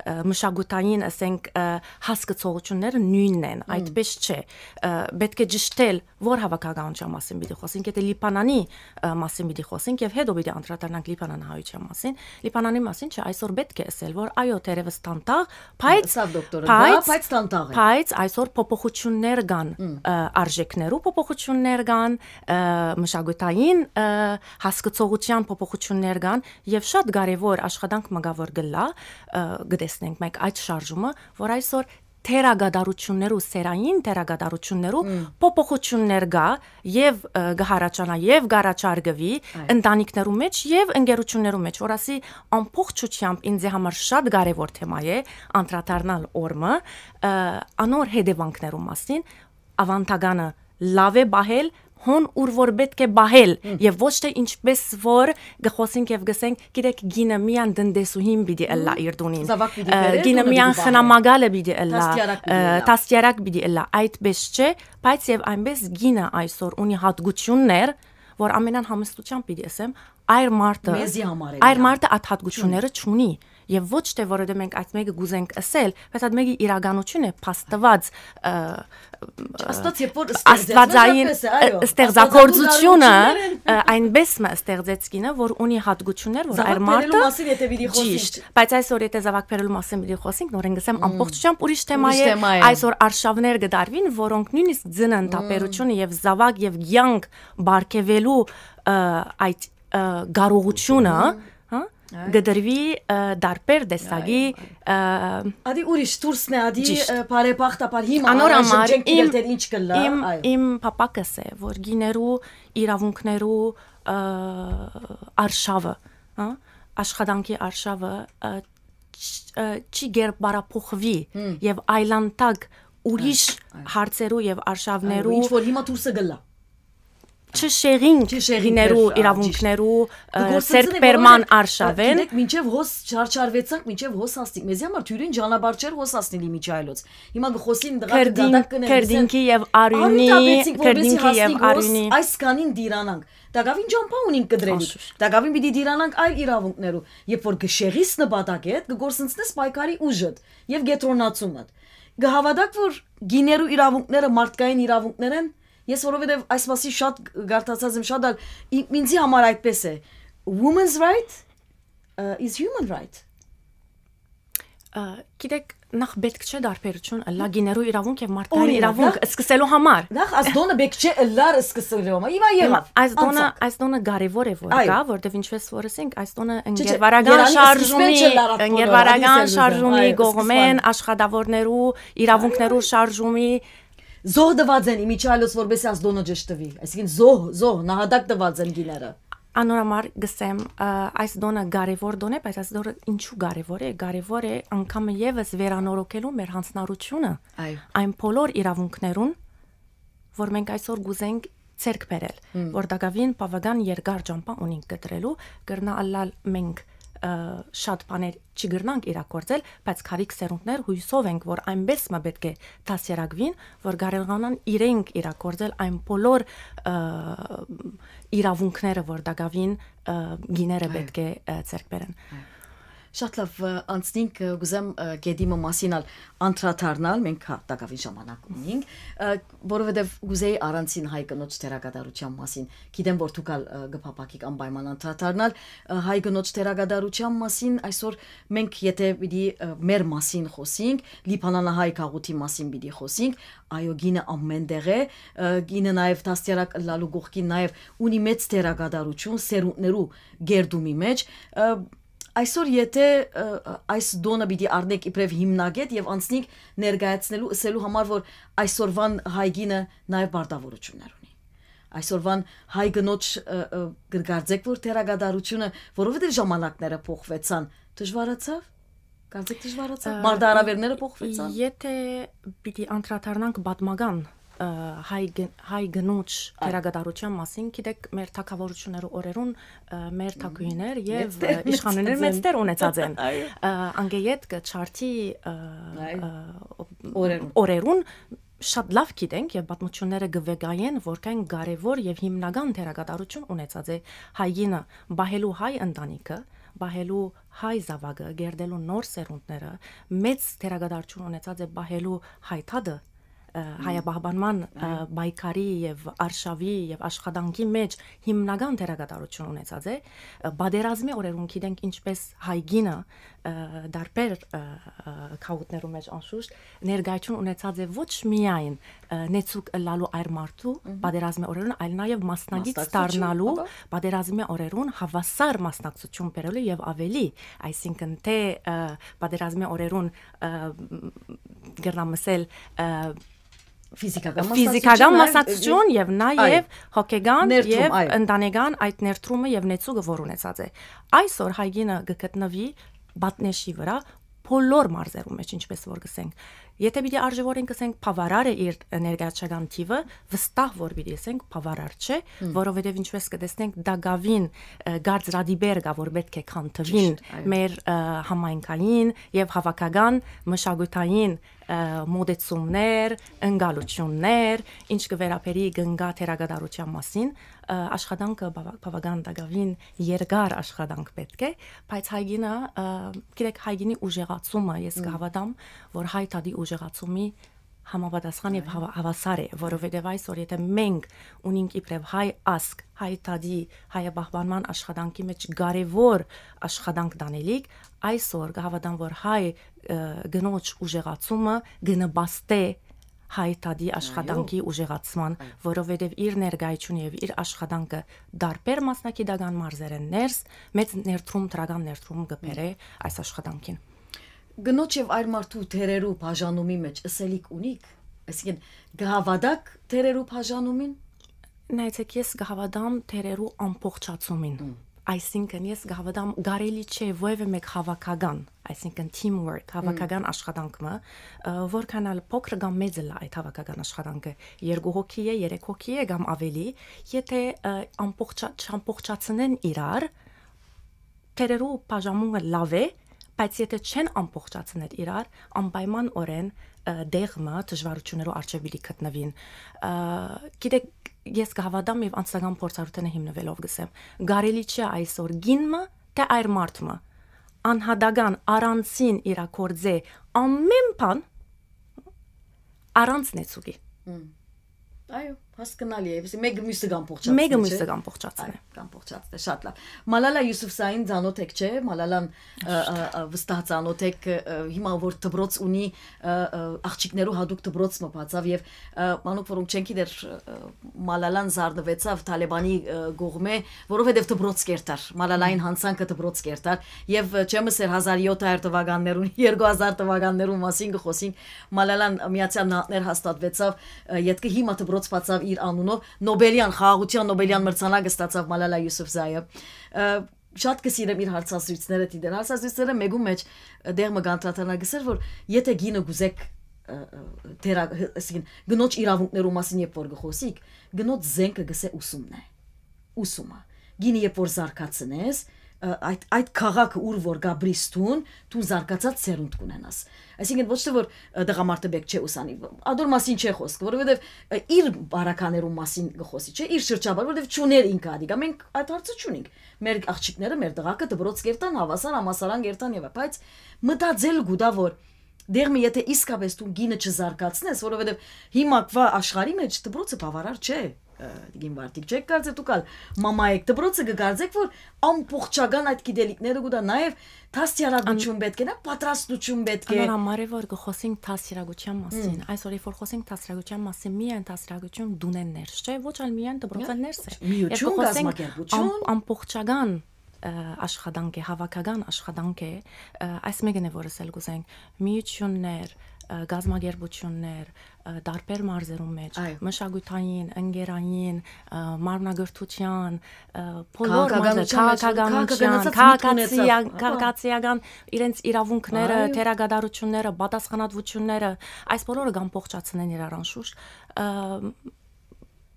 ը, մշակութային, ասենք, ը, հասկցողությունները նոյնն են, մ, այդպես չէ։ Ը, պէտք է ճշդել, որ հաւաքականության մասին պիտի խօսինք, եթե Լիբանանի, ը, մասին պիտի խօսինք եւ հետո պիտի անդրադառնանք լիբանանահայության մասին։ Լիբանանի մասին չէ, այսօր պէտք է ասել, որ այո, թերեւս տանտաղ, բայց, ըսաւ դոկտորը, դա, բայց, բայց տանտաղ է, բայց այսօր փոփոխություններ կան, մ, ը, արժեքներու փոփոխություններ կան, ը, մշակութային, ը, հասկցողության փոփոխություններ կան եւ շատ կարեւոր աշխատանք մը կայ, որ կլա, ը, կտեսնենք մենք այդ շարժումը, որ այսօր թերակատարություններու, սերային թերակատարություններու, մ, փոփոխություններ կայ եւ, ը, կը հառաչանայ եւ կառաջարկուի, այո, ընտանիքներու մէջ եւ ընկերություններու մէջ, որ ասի ամբողջությամբ ինձ համար շատ կարեւոր թեմա է անդրադառնալ օրմը, ը, անոր հետեւանքներու մասին, ավանդականը լաւ է պահել, հոն ուր որ պէտք է պահել, մ, եւ ոչ թե ինչպես որ կը խօսենք եւ գսենք, գիտեք, գինը միան տնտեսուհին պիտի ըլլայ, մ, իր տունին, զաւակ պիտի, ը, բերե, գինը տունը միան պիտի պահե, խնամակալը պիտի ըլլայ, դաստիարակ պիտի, ը, ըլլայ, դաստիարակ պիտի ըլլայ, այդպես չէ, բայց եւ այնպես գինը այսօր ունի հատկություններ, որ ամենան համեստությամբ պիտի ասեմ, այր մարդը, մեզի համար է այր միան, մարդը այդ հատկությունները չունի, չունի։ Եւ ոչ թե որովհետեւ մենք այդ մեկը կ'ուզենք ըսել, բայց այդ մեկը իրականություն է, փաստուած, ը, Աստված երբ որ աստվածային, ստեղծեց, այո, ը, ստեղծագործությունը, աստվածաբուժարարութիւններն ը, այնպէս մը ստեղծեցկինը, որ ունի հատկություններ, որ Զաւակ այր մարդը բերելու մասին եթե պիտի խոսենք։ Ճիշտ, բայց այսօր եթե զաւակ բերելու մասին պիտի խոսենք, նորեն գսեմ, ամբողջությամբ ուրիշ թեմա Ուրիշ է, թեմա է։ այսօր արշավներ կդարվին, որոնք նույնիսկ ձնն տապերությունը եւ զաւակ եւ կյանք բարգեւելու, ը, այդ, ը, կարողությունը, հա, կդրվի, ը, դարբեր տեսակի, ը, Ադի ուրիշ դուրսն է, ադի Ճիշտ։ ը, բարեբախտաբար հիմա Անոր առայժմ համար չենք գիտեր իմ, դեռ ինչ կլա, իմ, այո։ իմ պապակս է, որ գիներու իրաւունքներու, ը, արշավը, հա, աշխատանքի արշավը, ը, չ-, ը, չի գերբարափոխվի եւ այլանդակ ուրիշ Այո, այո։ հարցերու եւ Այո, արշավներու ինչ որ հիմա դուրսը գլա։ չշեղին Չշեղին գիներու դեր, ա, իրաւունքներու, ը, Գործընծնի, սերտպերման որովհետև, արշավեն։ Գիտեք, մինչև հոս չարչարվեցանք, մինչև հոս հասնիկ, մեզի համար թյուրին ճանապարհ չէր հոս հասնիլ իմիջայլոց։ Հիմա կխոսին դղա Քերդին-, դատակ կներ, քերդինքի եւ արիւնի, Արիւն դաբեցինք, որպեսզի քերդինքի եւ հասնենք հոս, արիւնի։ Այս կանին դիրանանք։ Տակավին ճամփա ունին կդրելիք։ Անշուշտ։ Տակավին պիտի դիրանանք այլ իրաւունքներու։ Երբ որ կշեղիս նպատակ հետ, կգործընծնես պայքարի ուժդ եւ կետրոնացումդ։ Կհավատաք, որ գիներու իրաւունքները մարդկային իրաւունքներ են, ես որովհետեւ այս մասին շատ գ-, գարթացած եմ շատ ալ, ի-, ինձի համար այդպես է։ Women's right, uh, is human right։ Ը, գիտեք, նախ պետք չէ դարբերություն ըլլա գիներու իրաւունք եւ մարդկային Օրինակ, իրաւունք նախ- սկսելու համար։ Նախ այս տոնը բեք չէ ըլլար սկսելու համար։ Հիմա եղավ։ Այս տոնը, Անցակ։ այս տոնը կարեւոր է որ Այո։ կա, որտեւ ինչպես որ ասենք, այս տոնը Չէ, չէ, ընկերվարական երանի շարժումի, սկիզբեն չլարած բոլորը, ընկերվարական ադիս էլ շարժումի ուզում, այո, կողմեն սկզբան։ աշխատավորներու իրաւունքներու շարժումի Զոհ տված են իմիջայլոց, որպեսզի այս տոնը ճշտվի։ Այսինքն զոհ, զոհ, նահատակ տված են գիները։ Անոր համար գսեմ, ը, այս տոնը կարեւոր տոն է, բայց այս տոնը ինչու կարեւոր է։ Կարեւոր է անգամը եւս վերանորոգելու մեր հանձնառությունը Այո։ այն բոլոր իրաւունքներուն, որ մենք այսօր կուզենք ձեռք բերել, որ տակավին բավական երկար ճամփա ունենք կտրելու, կրնա ըլլալ մենք, ը, շատ բաներ չի կրնանք իրագործել, բայց քարիք սերունդներ հույսով ենք, որ այնպես մը պետք է դասերագվին, որ կարողանան իրենք իրագործել այն բոլոր, ը, իրաւունքները, որ տակավին, ը, գիները Այո։ պետք է, ը, ձեռք բերեն։ Շատ լավ, ը, անցնինք, ը, կուզեմ, ը, գետի մը մասին ալ անդրադառնալ, մենք հա տակավին ժամանակ ունենք, ը, որովհետև կուզեի առանցին հայ կնոջ դերակատարության մասին, գիտեմ, որ դուք ալ, ը, կփափակիք անպայման անդրադառնալ, ը, հայ կնոջ դերակատարության մասին, այսօր մենք եթե պիտի, ը, մեր մասին խոսենք, լիբանանահայ գաղութի մասին պիտի խոսենք, այո, գինը ամեն տեղ է, ը, գինը նաև դաստիարակ ըլլալու կողքին նաև ունի մեծ դերակատարություն սերունդներու գերդումի մեջ, ը, այսօր եթե, ը, այս տոնը պիտի առնեք իբրև հիմնագետ եւ անցնենք ներկայացնելու, ըսելու համար, որ այսօրվան հայ գինը նաև պարտավորություններ ունի։ Այսօրվան հայ կնոջ, ը, ը, կրկարձեք, որ դերակատարությունը, որովհետև ժամանակները փոխվեցան, դժվարացավ, կարծեք դժվարացավ, Ը, մարտահրավերները փոխվեցան։ Եթե պիտի անդրադառնանք պատմական, ը, հայ գ-, հայ կնոջ Այո։ դերակատարության մասին, գիտեք, մեր թագավորություններու օրերուն, ը, մեր թագուհիներ եւ, Մեծտեր ը, իշխանուհիներ ունեցած են։ մեծտեր ունեցած են։ Այո։ Ը, անգեյետ կը չարթի, ը, Այո։ ը, Օրերուն։ օրերուն շատ լավ գիտենք եւ պատմությունները կվեգայեն, որքան կարեւոր եւ հիմնական դերակատարություն ունեցած է հայ գինը, պահելու հայ ընտանիքը, պահելու հայ զավակը, գերտելու նոր սերունդները, մեծ դերակատարություն ունեցած է պահելու հայ թադը, ը, հայապահպանման, ը, պայքարի եւ արշավի եւ աշխատանքի մեջ հիմնական դերակատարություն ունեցած է, ը, պատերազմի օրերուն գիտենք ինչպես հայ գինը, ը, դարբեր, ը, ը, գաղութներու մեջ անշուշտ ներկայություն ունեցած է ոչ միայն, ը, նեցուկ ըլլալու այր մարդու Մհմ։ պատերազմի օրերուն, այլ նաև մասնակից Մասնակցություն, դառնալու ապա։ պատերազմի օրերուն հավասար մասնակցություն բերելու եւ ավելի, այսինքն թե, ը, պատերազմի օրերուն, ը, կրնամ ասել, ը, Ֆիզիկական ֆիզիկական մասնակցություն, մասնակցություն եւ նաև այո։ հոգեգան Ներդրում, եւ այո։ ընտանեկան այդ ներդրումը եւ նեցուկը, որ ունեցած է։ Այսօր հայ գինը կգտնվի պատնեշի վրա բոլոր մարզերու մեջ, ինչպես որ գսենք, Եթե պիտի արժեւորենք, ասենք, բաւարարը իր ներկայացական թիվը, վստահ որ պիտի ասենք բաւարար չէ, որովհետեւ ինչպես կտեսնենք, տակաւին, ը, կարծրատիպեր կա, որ պէտք է քանդուին Ճիշտ, այո։ մեր, ը, համայնքային եւ հաւաքական մշակութային, ը, մոտեցումներ, ընկալություններ, ինչ կը վերաբերի կնկա թերակատարութեան մասին, ը, աշխատանքը բաვა-, բաւական տակաւին երկար աշխատանք պէտք է, բայց հայ կինը, ը, գիտեք, հայ կինի ուժեղացումը, ես կհաւատամ, որ հայ դատի ուժեղացումի համապատասխան եւ Այո։ Հաვა-, հաւասար է, որովհետեւ այսօր, եթե մենք ունենք իբրեւ հայ ազգ, հայ դատի, հայապահպանման աշխատանքի մեջ կարեւոր աշխատանք տանելիք, այսօր կհաւատամ, որ հայ, ը, կնոջ ուժեղացումը կնպաստէ հայ դատի աշխատանքի ուժեղացման, Այո։ որովհետեւ իր ներկայությունը եւ իր աշխատանքը տարբեր մասնագիտական մարզերէն ներս մեծ ներդրում, դրական ներդրում կը բերէ այս աշխատանքին։ Կնոջ եւ այր մարդու դերերու բաժանումի մեջ ըսելիք ունիք, այսինքն, կհաւատաք դերերու բաժանումին։ Նայեցեք, ես կհաւատամ դերերու ամբողջացումին։ Մմ։ Այսինքն, ես կհաւատամ, կարելի չէ որեւէ մեկ հաւաքական, այսինքն, teamwork, հաւաքական աշխատանք մը, ը, որքան ալ փոքր կամ մեծ ըլլայ այդ հաւաքական աշխատանքը, երկու հոգի է, երեք հոգի է կամ ավելի, եթե, ը, ամբողջա-, չամբողջացնեն իրար, դերերու բաժանումը լաւ է, բայց եթե չեն ամբողջացնել իրար, անպայմանօրէն, ը, տեղ մը դժվարութիւններու առջեւ պիտի գտնուին։ Ը, գիտեք, ես կհաւատամ եւ անձնական փորձառութենը հիմնուելով կ'ըսեմ, կարելի չէ այսօր կին մը, թէ այր մարդ մը, անհատական, առանցին իրա գործէ ամէն բան առանց նեցուկի։ Մմ։ Այո, հասկնալի է, այսինքն, մեկը մյուսը կ'ամբողջացնի, Մեկը չէ՞։ մյուսը կ'ամբողջացնի։ Այո, կ'ամբողջացնի, շատ լավ։ Մալալա Յուսուֆզային ծանոթ եք, չէ՞, Մալալան, ը, ը, ը, վստահ ծանոթ եք, ը, ը, հիմա որ դպրոց ունի, ը, ը, աղջիկներու հատուկ դպրոց մը բացաւ եւ, ը, մանուկ, որոնք չեն գիտեր, ը, Մալալան զարնուեցաւ Թալեբանի, ը, կողմէ, որովհետեւ դպրոց կերտար, Մալալային Մմ։ յանցանքը դպրոց կերտար եւ, ը, չեմ ըսեր հազար յոթ հարյուր թվականներուն, երկու հազար թվականներուն մասին կը խոսենք, Մալալան Միացյալ Նահանգներ հաստատուեցաւ, ը, ետքը հիմա դպրոց բացաւ իր անունով, Նոբելյան, խաղաղութեան Նոբելյան մրցանակ ստացաւ Մալալա Յուսուֆզայը։ Ը, շատ կը սիրեմ իր հարցազրույցները դիտել։ Հարցազրույցները մեկու մեջ, ը, դեղ մը կանդրադառնայ, կ'ըսէր, որ եթե կինը կ'ուզեք, ը, ը, դերա-, ը, այսինքն, կնոջ իրաւունքներու մասին երբ որ կը խոսիք, կնոջ զենքը կ'ըսէ ուսումն է, ուսումը։ Կինը երբ որ զարգացնես, ը, այդ, այդ քաղաքը, ուր որ կ'ապրիս դուն, դուն զարգացած սերունդ կ'ունենաս։ Այսինքն, ոչ թե որ, ը, տղամարդը պէտք չէ ուսանի, ադոր մասին չէ խոսքը, որովհետեւ, ը, իր բարականերուն մասին կը խոսի, չէ, իր շրջապատը, որովհետեւ չունէր ինքը ադիկա, մենք այդ հարցը չունենք։ Մեր աղջիկները, մեր տղաքը դպրոց կերտան, հաւասար համալսարան կերտան եւ այ-, բայց մտածել կու տայ, որ դեղ մը եթե իսկապես դու կինը չզարգացնես, որովհետեւ հիմա կվա աշխարհի մեջ դպրոցը բաւարար չէ, ը, Տիկին Վարդիկ, չէ՞ք կարծեր դուք ալ մամա եք, դպրոցը կը կարծեք, որ ամբողջական այդ գիտելիքները կու տայ, նաեւ դաստիարակություն Ան- պէտք է, նա պատրաստություն պէտք է։ Անոր համար է, որ կը խոսենք դաստիարակության մասին։ Հմ։ Այսօր, երբ որ խոսենք դաստիարակության մասին, միայն դաստիարակություն դունեն ներս, չէ՞, ոչ ալ միայն դպրոցը Միա-, ներս է։ միություն, Երբ կը խոսենք կազմակերպություն։ ամ-, ամբողջական, ը, աշխատանք է, հաւաքական աշխատանք է, ը, այս մեկն է, որ ասել կ'ուզենք, միություններ, ը, կազմակերպություններ, ը, տարբեր մարզերուն մեջ, Այո։ մշակութային, ընկերային, ը, մարմնակրթության, ը, բոլոր մարզեր, Քաղաքականության մեջ, քաղաքականության, քաղաքականացած միտք ունեցող, քաղաքացիա-, հա։ քաղաքացիական իրենց իրաւունքները, Այո։ թերակատարությունները, պատասխանատվությունները, այս բոլորը կ'ամբողջացնեն իրար անշուշտ, ը,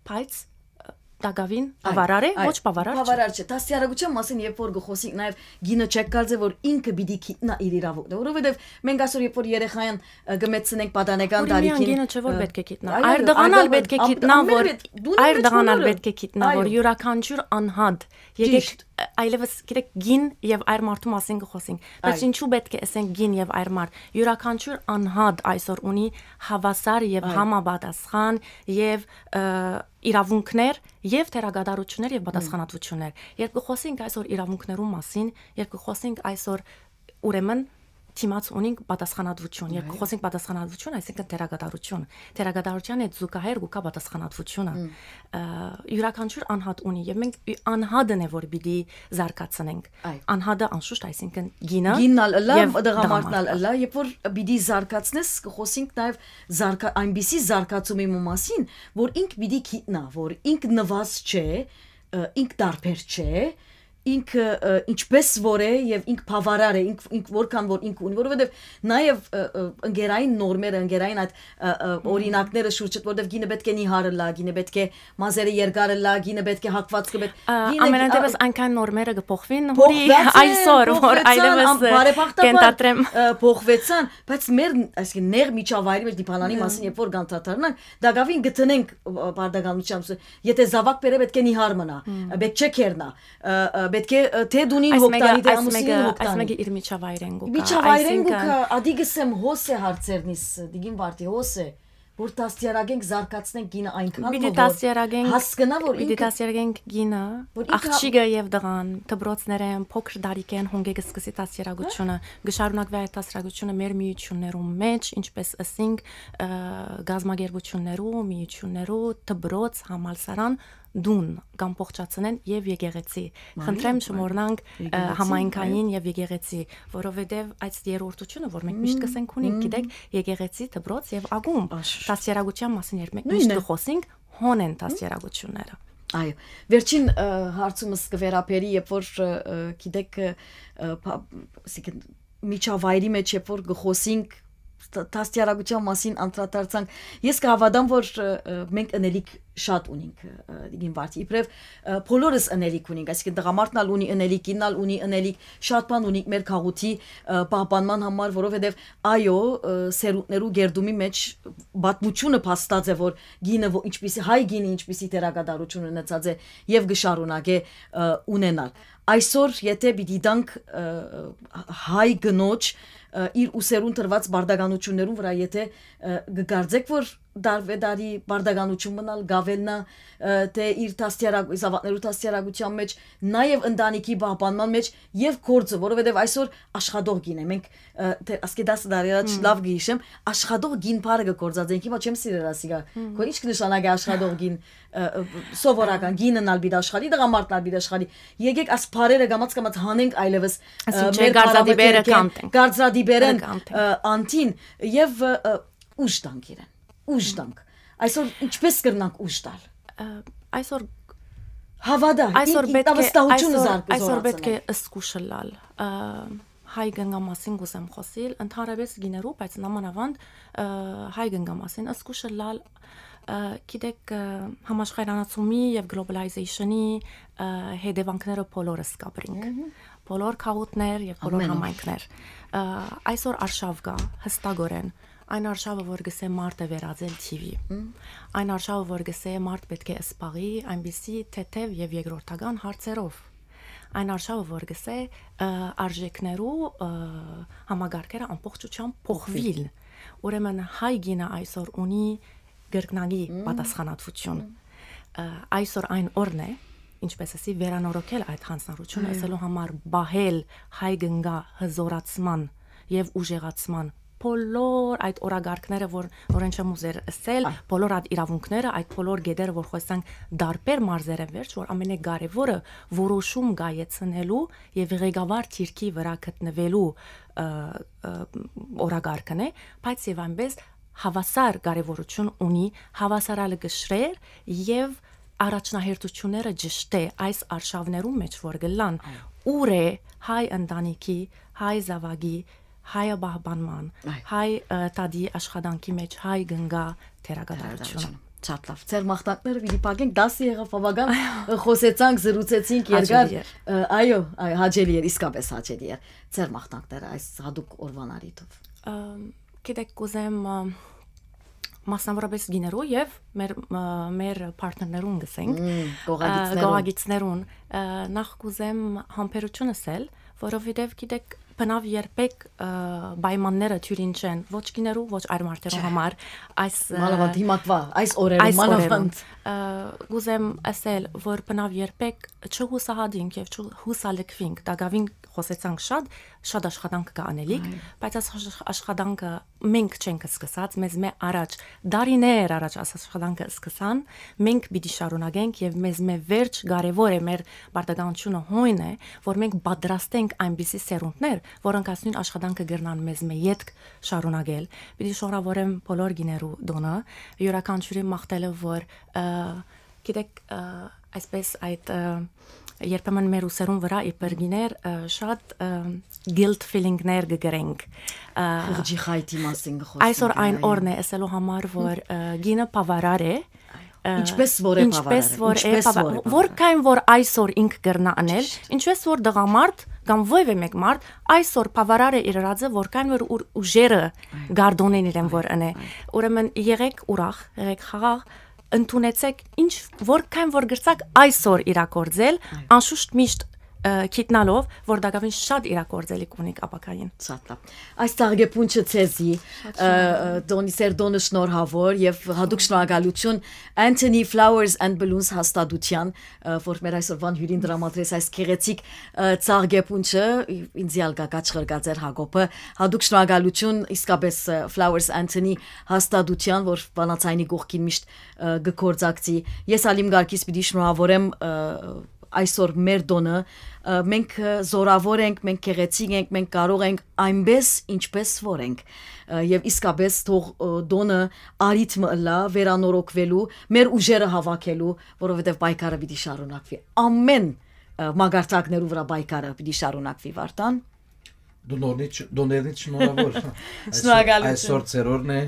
բայց, ը, տակաւին Այ, բավարար է, այ, ոչ բավարար չէ։ բավարար չէ։ Դաստիարակության մասին երբ որ կը խոսենք, նաեւ գինը չեք կարծեր, որ ինքը պիտի գիտնայ իր իրաւունքները, որովհետեւ մենք այսօր երբ որ երեխային, ը, կը մեծցնենք պատանեկան Ուրեմն միայն տարիքին, գինը չէ, որ ը, պէտք է գիտնայ։ այո, Այր տղան ալ ան-, պէտք է ան-, գիտնայ, ամեն որ, վետ-, դու այր ունես տղան ալ բոլորը։ պէտք է գիտնայ, որ Այո։ յուրաքանչյուր անհատ, եկեք, Ճիշտ։ ը, այլևս, գիտեք, գին եւ այր մարդու մասին կը խոսենք, բայց Այո։ ինչու պէտք է ասենք գին եւ այր մարդ։ Յուրաքանչյուր անհատ այսօր ունի հաւասար եւ Այո։ համապատասխան եւ, ը, իրաւունքներ եւ թերակատարություններ եւ Հմ։ պատասխանատվություններ։ Երբ կը խոսենք այսօր իրաւունքներու մասին, երբ կը խոսենք այսօր, ուրեմն, դիմաց ունենք պատասխանատվություն։ Երբ Այո։ կը խոսենք պատասխանատվություն, այսինքն թերակատարություն։ Թերակատարության հետ զուգահեռ կու գայ պատասխանատվությունը։ Հմ։ Ը, յուրաքանչյուր անհատ ունի, եւ մենք ի-, անհատն է, որ պիտի զարգացնենք։ Այո։ Անհատը անշուշտ, այսինքն գինը Գինն ալ ըլլայ, եւ տղամարդն ալ տղամարդը։ ըլլայ, երբ որ պիտի զարգացնես, կը խոսենք նաեւ զարգա-, այնպիսի զարգացումի մը մասին, որ ինք պիտի գիտնայ, որ ինք նվազ չէ, ը, ինք տարբեր չէ, ինքը, ը, ինչպես որ է եւ ինք բավարար է, ինք, ինք որքան որ ինք ունի, որովհետեւ նաեւ, ը, ը, ընկերային նորմերը, ընկերային այդ, ը, ը, օրինակները շուրջը, որովհետեւ կինը պետք է նիհար ըլլայ, կինը պետք է մազերը երկար ըլլայ, կինը պետք է հագուածքը պետք-, Ա, կինը, ամենատեւս ա, այնքան նորմերը կը փոխուին, հուրի փոխուած են, այսօր, որ փոխուեցան, այլեւս, ան-, ը, բարեբախտաբար, կ'ընդհանրեմ։ Ը, փոխուեցան, բայց մեր, այսինքն, նեղ միջավայրի մեջ դիպանանի Հմ։ մասին, երբ որ կանդրադառնանք, դա գավին գտնենք, ը, բարդականությամբ, եթե զաւակ բերե, պետք է նիհար մնա, Հմ։ ը, պետք չէ քերնա, ը, ը, պետք է, ը, թե դունին Այս հոգ մեկը, տանի, թե այս ամուսինին մեկը, հոգ այս տանի։ մեկը իր միջավայրեն կու գայ, Միջավայրեն կու այսինքն գայ, ադի գսեմ հոս է հարցերնիս, դիգին վարդի, հոս է, որ դաստիարակենք, զարգացնենք կինը այնքան Պիտի մը, որ դաստիարակենք, հասկնա, որ պիտի ինքը դաստիարակենք կինը, որ ինքը աղջիկը եւ տղան, դպրոցներեն, փոքր տարիքեն հունգէ կը սկսի դաստիարակությունը, կը շարունակվի այդ դաստիարակությունը մեր միություններու մեջ, ինչպես ըսինք, ը, գազམ་ակերպություններու, միություններու, դպրոց, համալսարան, տուն, կ'ամբողջացնեն եւ եկեղեցի։ Մարի Խնդրեմ, Եղբայր, շմորնանք, ը, եկեղեցի, համայնքային այո։ Եւ եկեղեցի, որովհետեւ այս երրորդությունը, որ մենք միշտ Մմ, կսենք ունենք, մմ։ գիտեք, եկեղեցի, դպրոց եւ ակումբ, Աշ։ դաստիարակության մասին, երբ մենք միշտ Նույնն է։ կխոսենք, հոն են դաստիարակությունները։ Այո, վերջին, ը, հարցումս կը վերաբերի, երբ որ, ը, ը, գիտեք, ը, ը, փա-, այսինքն, միջավայրի մեջ, երբ որ կը խոսենք, դ-, դաստիարակության մասին անդրադարձանք, ես կհաւատամ, որ, ը, ը, մենք ընելիք շատ ունենք, ը, դիգին վարդի, իբրեւ, ը, բոլորս ընելիք ունենք, այսինքն, տղամարդն ալ ունի ընելիք, կինն ալ ունի ընելիք, շատ բան ունենք մեր քաղուտի, ը, պահպանման համար, որովհետեւ, այո, ը, սերունդներու գերդումի մեջ պատմությունը փաստած է, որ կինը, ո-, ինչպիսի, հայ կինը ինչպիսի դերակատարություն ունեցած է եւ կը շարունակէ, ը, ունենալ։ Այսօր, եթե պիտի տանք, ը, հայ կնոջ, ը, իր ուսերուն տրուած բարդականություններուն վրայ, եթե, ը, կկարծեք, որ դարվեդարի բարդականություն մնալ, գավելնա, ը, թե իր դաստիարակ-, զաւակներու դաստիարակության մեջ, նաեւ ընտանիքի պահպանման մեջ եւ գործը, որովհետեւ այսօր աշխատող կին է, մենք, ը, թե ասկե տասը տարի առաջ Հմ։ լաւ կը յիշեմ, աշխատող կին բառը կը գործածենք, հիմա չեմ սիրեր ասիկա, Հմ։ քո ի՞նչ կը նշանակէ աշխատող կին, ը, ը, սովորական, կինն ալ պիտի աշխատի, տղամարդն ալ պիտի աշխատի, եկեք աս բառերը կամաց-կամաց հանենք այլեւս, ը, Ասին չէ, մեր կարծրատիպերը բառամթերքէն, կանտենք։ կարծրատիպերեն, Ները կանտենք։ ը, անտին եւ, ը, ը, ուժ տանք իրեն, ուժ տանք։ Այսօր ինչպես կրնանք ուժ տալ։ Ը, այսօր Հավատա, այսօր ին-, պետք է, ինքնավստահությունը այսօր, զարգ-, այսօր պետք է զորացնել։ Զգուշ ըլլալ, ը, հայ կնկա մասին կուզեմ խոսիլ, ընդհանրապես կիներու, բայց նամանավանդ, ը, հայ կնկա մասին զգուշ ըլլալ, ը, գիտեք, ը, համաշխարհանացումի եւ գլոբալայզեյշնի, ը, հետևանքները բոլորս կապրինք։ Մհմ։ Բոլոր քաղուտներ եւ բոլոր Ամեն օր։ համայնքներ։ Ը, այսօր արշաւ կա, հստակորեն։ Այն արշավը, որ գսե մարդը վերածել թիվի։ Մհմ։ Այն արշավը, որ գսե մարդ պետք է սպաղի այնպիսի թեթև եւ երկրորդական հարցերով։ Այն արշավը, որ գսե, ը, արժեքներու, ը, համագարկերը ամբողջությամբ փոխվիլ։ Փոխվիլ։ Ուրեմն հայ կինը այսօր ունի կրկնակի Մհմ։ պատասխանատվություն։ Մհմ։ Ը, այսօր այն օրն է, ինչպես ասի, վերանորոգել այդ հանձնառությունը, Այո։ ասելու համար պահել հայ կնկա հզորացման եւ ուժեղացման բոլոր այդ օրագարկները, որ, որեն չեմ ուզեր ասել, Այ։ բոլոր այդ իրավունքները, այդ բոլոր գետերը, որ խոսանք դարբեր մարզերեն վերջ, որ ամենակարևորը որոշում կայացնելու եւ ղեկավար թիրքի վրա գտնվելու, ը, ը, օրագարկն է, բայց եւ այնպես հավասար կարևորություն ունի հավասարալը կշռեր եւ առաջնահերթությունները ճշտե այս արշավներու մեջ, որ գլան, Այո։ ուր է հայ ընտանիքի, հայ զավակի, հայը պահպանման, Այո։ հայ, ը, տատի աշխատանքի մեջ հայ կնկա դերակատարությունը։ Դերակատարությունը։ Շատ լավ։ Ձեր մաղթանքները պիտի փակենք, դասը եղավ բավական, ը, խոսեցանք, զրուցեցինք երկար, Հաճելի էր։ ը, այո, այ, հաճելի էր, իսկապես հաճելի էր։ Ձեր մաղթանքները այս հատուկ օրվան առիթով։ Ը, գիտեք, կուզեմ, ը, մասնավորապես գիներու եւ մեր, ը, մեր պարտներներուն գսենք, Մմ, ը, գողագիցներուն։ գողագիցներուն, ը, նախ կուզեմ համբերություն ասել, որովհետեւ, գիտեք, բնավ երբեք, ը, պայմանները թիւրին չեն, ոչ գիներու, ոչ այլ մարդերու Չէ։ համար, այս, ը, Մանավանդ հիմակվա, այս օրերուն, այս մանավանդ։ օրերուն։ Ը, կուզեմ ասել, որ բնավ երբեք չհուսահատինք եւ չհուսալքվինք, տակավին խոսեցանք շատ, շատ աշխատանք կա անելիք, Այո։ բայց այս աշ-, աշխատանքը մենք չենք սկսած, մեզ մէ առաջ, դարիներ առաջ այս աշխատանքը սկսան, մենք պիտի շարունակենք եւ մեզ մէ վերջ կարեւոր է, մեր պարտականությունը հոյն է, որ մենք պատրաստենք այնպիսի սերունդներ, որոնք այս նոյն աշխատանքը կրնան մեզ մէ ետք շարունակել։ Պիտի շնորհավորեմ բոլոր գիներու տոնը, յուրաքանչիւրի մաղթելը, որ, ը, գիտեք, ը, այսպես այդ, ը, երբեմն մեր ուսերուն վրայ իբր կիներ շատ guilt feeling-ներ կը կրենք։ Խղճի խայտի մասին կը խոսենք։ Այսօր այն օրն է, ասելու համար, որ կինը բավարար է, ինչպես որ է, ինչպես որ է, որքան որ այսօր ինք կրնա անել, ինչպես որ տղամարդ կամ ովեւէ մեկ մարդ այսօր բավարար է իր ռածը, որքան որ ուժերը գարդոնեն իրեն որ ընէ։ Ուրեմն եղեք ուրախ, եղեք խաղաղ, ընդունեցեք ինչ, որքան որ գրցաք այսօր իրագործել, անշուշտ միշտ գիտնալով, որ տակավին շատ իրագործելիք ունիք ապագային։ Շատ լավ։ Այս ծաղկեպունչը ցեզի, Տոնի Սերտոնը շնորհավոր եւ հատուկ շնորհակալություն Anthony Flowers and Balloons հաստատության, որ մեր այսօրվան հիւրին դրամատրեց այս գեղեցիկ ծաղկեպունչը, ինձի ալ գա կաչղրկած էր Հակոբը, հատուկ շնորհակալություն իսկապես Flowers Anthony հաստատության, որ վանացայինի կողքին միշտ կը գործակցի։ Ես ալ իմ կարգից պիտի շնորհավորեմ այսօր մեր տոնը, մենք զորավոր ենք, մենք գեղեցիկ ենք, մենք կարող ենք այնպես, ինչպես որ ենք։ Եվ իսկապես թող տոնը արիթ մը ըլլայ վերանորոգուելու, մեր ուժերը հաւաքելու, որովհետեւ պայքարը պիտի շարունակուի։ Ամէն մակարդակներու վրայ պայքարը պիտի շարունակուի, Վարդան։ Դու նորնիչ, դու ներնիչ շնորհավոր։ Այսօր, այսօր ծերորն է,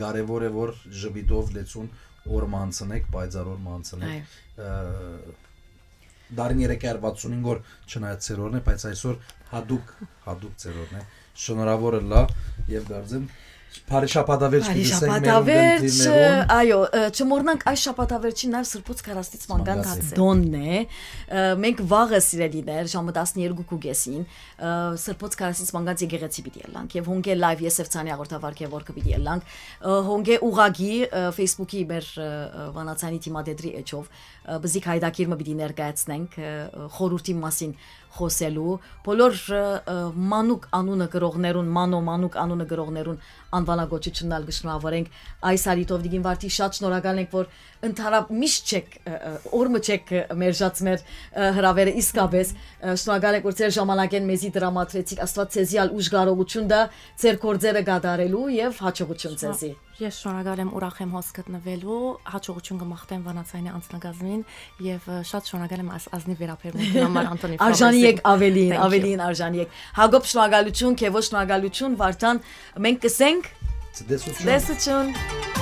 կարևոր է, որ ժպիտով լեցուն օր մը անցնեք, պայծառ օր մը անցնեք։ Դարին երեք հազար վաթսունհինգ օր չնայած ծերորն է, բայց այսօր հատուկ, հատուկ ծերորն է։ Շնորհավոր ըլլայ եւ կարծեմ բարի շաբաթավեր պիտի ասենք մեր շաբաթավեր, չ-, ունկնդիրներուն։ Այո, ը, չմոռնանք այս շաբաթավերջին նաեւ Սրբոց Քարաստից մանկան Մանկան դաց է։ Դոնն է։ Ը, մենք վաղը, սիրելիներ, ժամը տասներկու կեսին, ը, Սրբոց Քարաստից մանկան եկեղեցի պիտի ըլլանք եւ հոնկէ լայվ Եսեֆցանի հաղորդավար Քեվորքը պիտի ըլլանք, ը, հոնկէ ուղագի, ը, Facebook-ի մեր, ը, ը, վանացանի դիմադեդրի էջով, ը, բզիկ հայդակիր մը պիտի ներկայացնենք, ը, ը, խորհրդի մասին խոսելու, բոլոր, ը, ը, մանուկ անունը գրողներուն, մանո մանուկ անունը գրողներուն անվանակոչությունն ալ կը շնորհավորենք այս արիթով, Տիկին Վարդի, շատ շնորհակալ ենք, որ ընդհանրապ միշտ չեք, ը, ը, օր մը չեք, ը, մերժած մեր, ը, հրավերը, իսկապես, ը, շնորհակալ ենք, որ ձեր ժամանակէն մեզի դրամատրեցիք, Աստուած ձեզի ալ ուժ կարողություն տայ ձեր գործերը կատարելու եւ հաջողություն ձեզի։ Ես շնորհակալ եմ, ուրախ եմ հոս գտնվելու, հաջողություն կմաղթեմ Վանացայինի անձնակազմին եւ, ը, շատ շնորհակալ եմ այս ազնիվ վերաբերմունքին համար, Անտոնի Արժանի Ֆրանսին։ Եք ավելին, Thank you. Ավելին արժանի եք։ Հակոբ, շնորհակալություն, Քեվո, շնորհակալություն, Վարդան, մենք կսենք Ցտեսություն։ Ցտեսություն։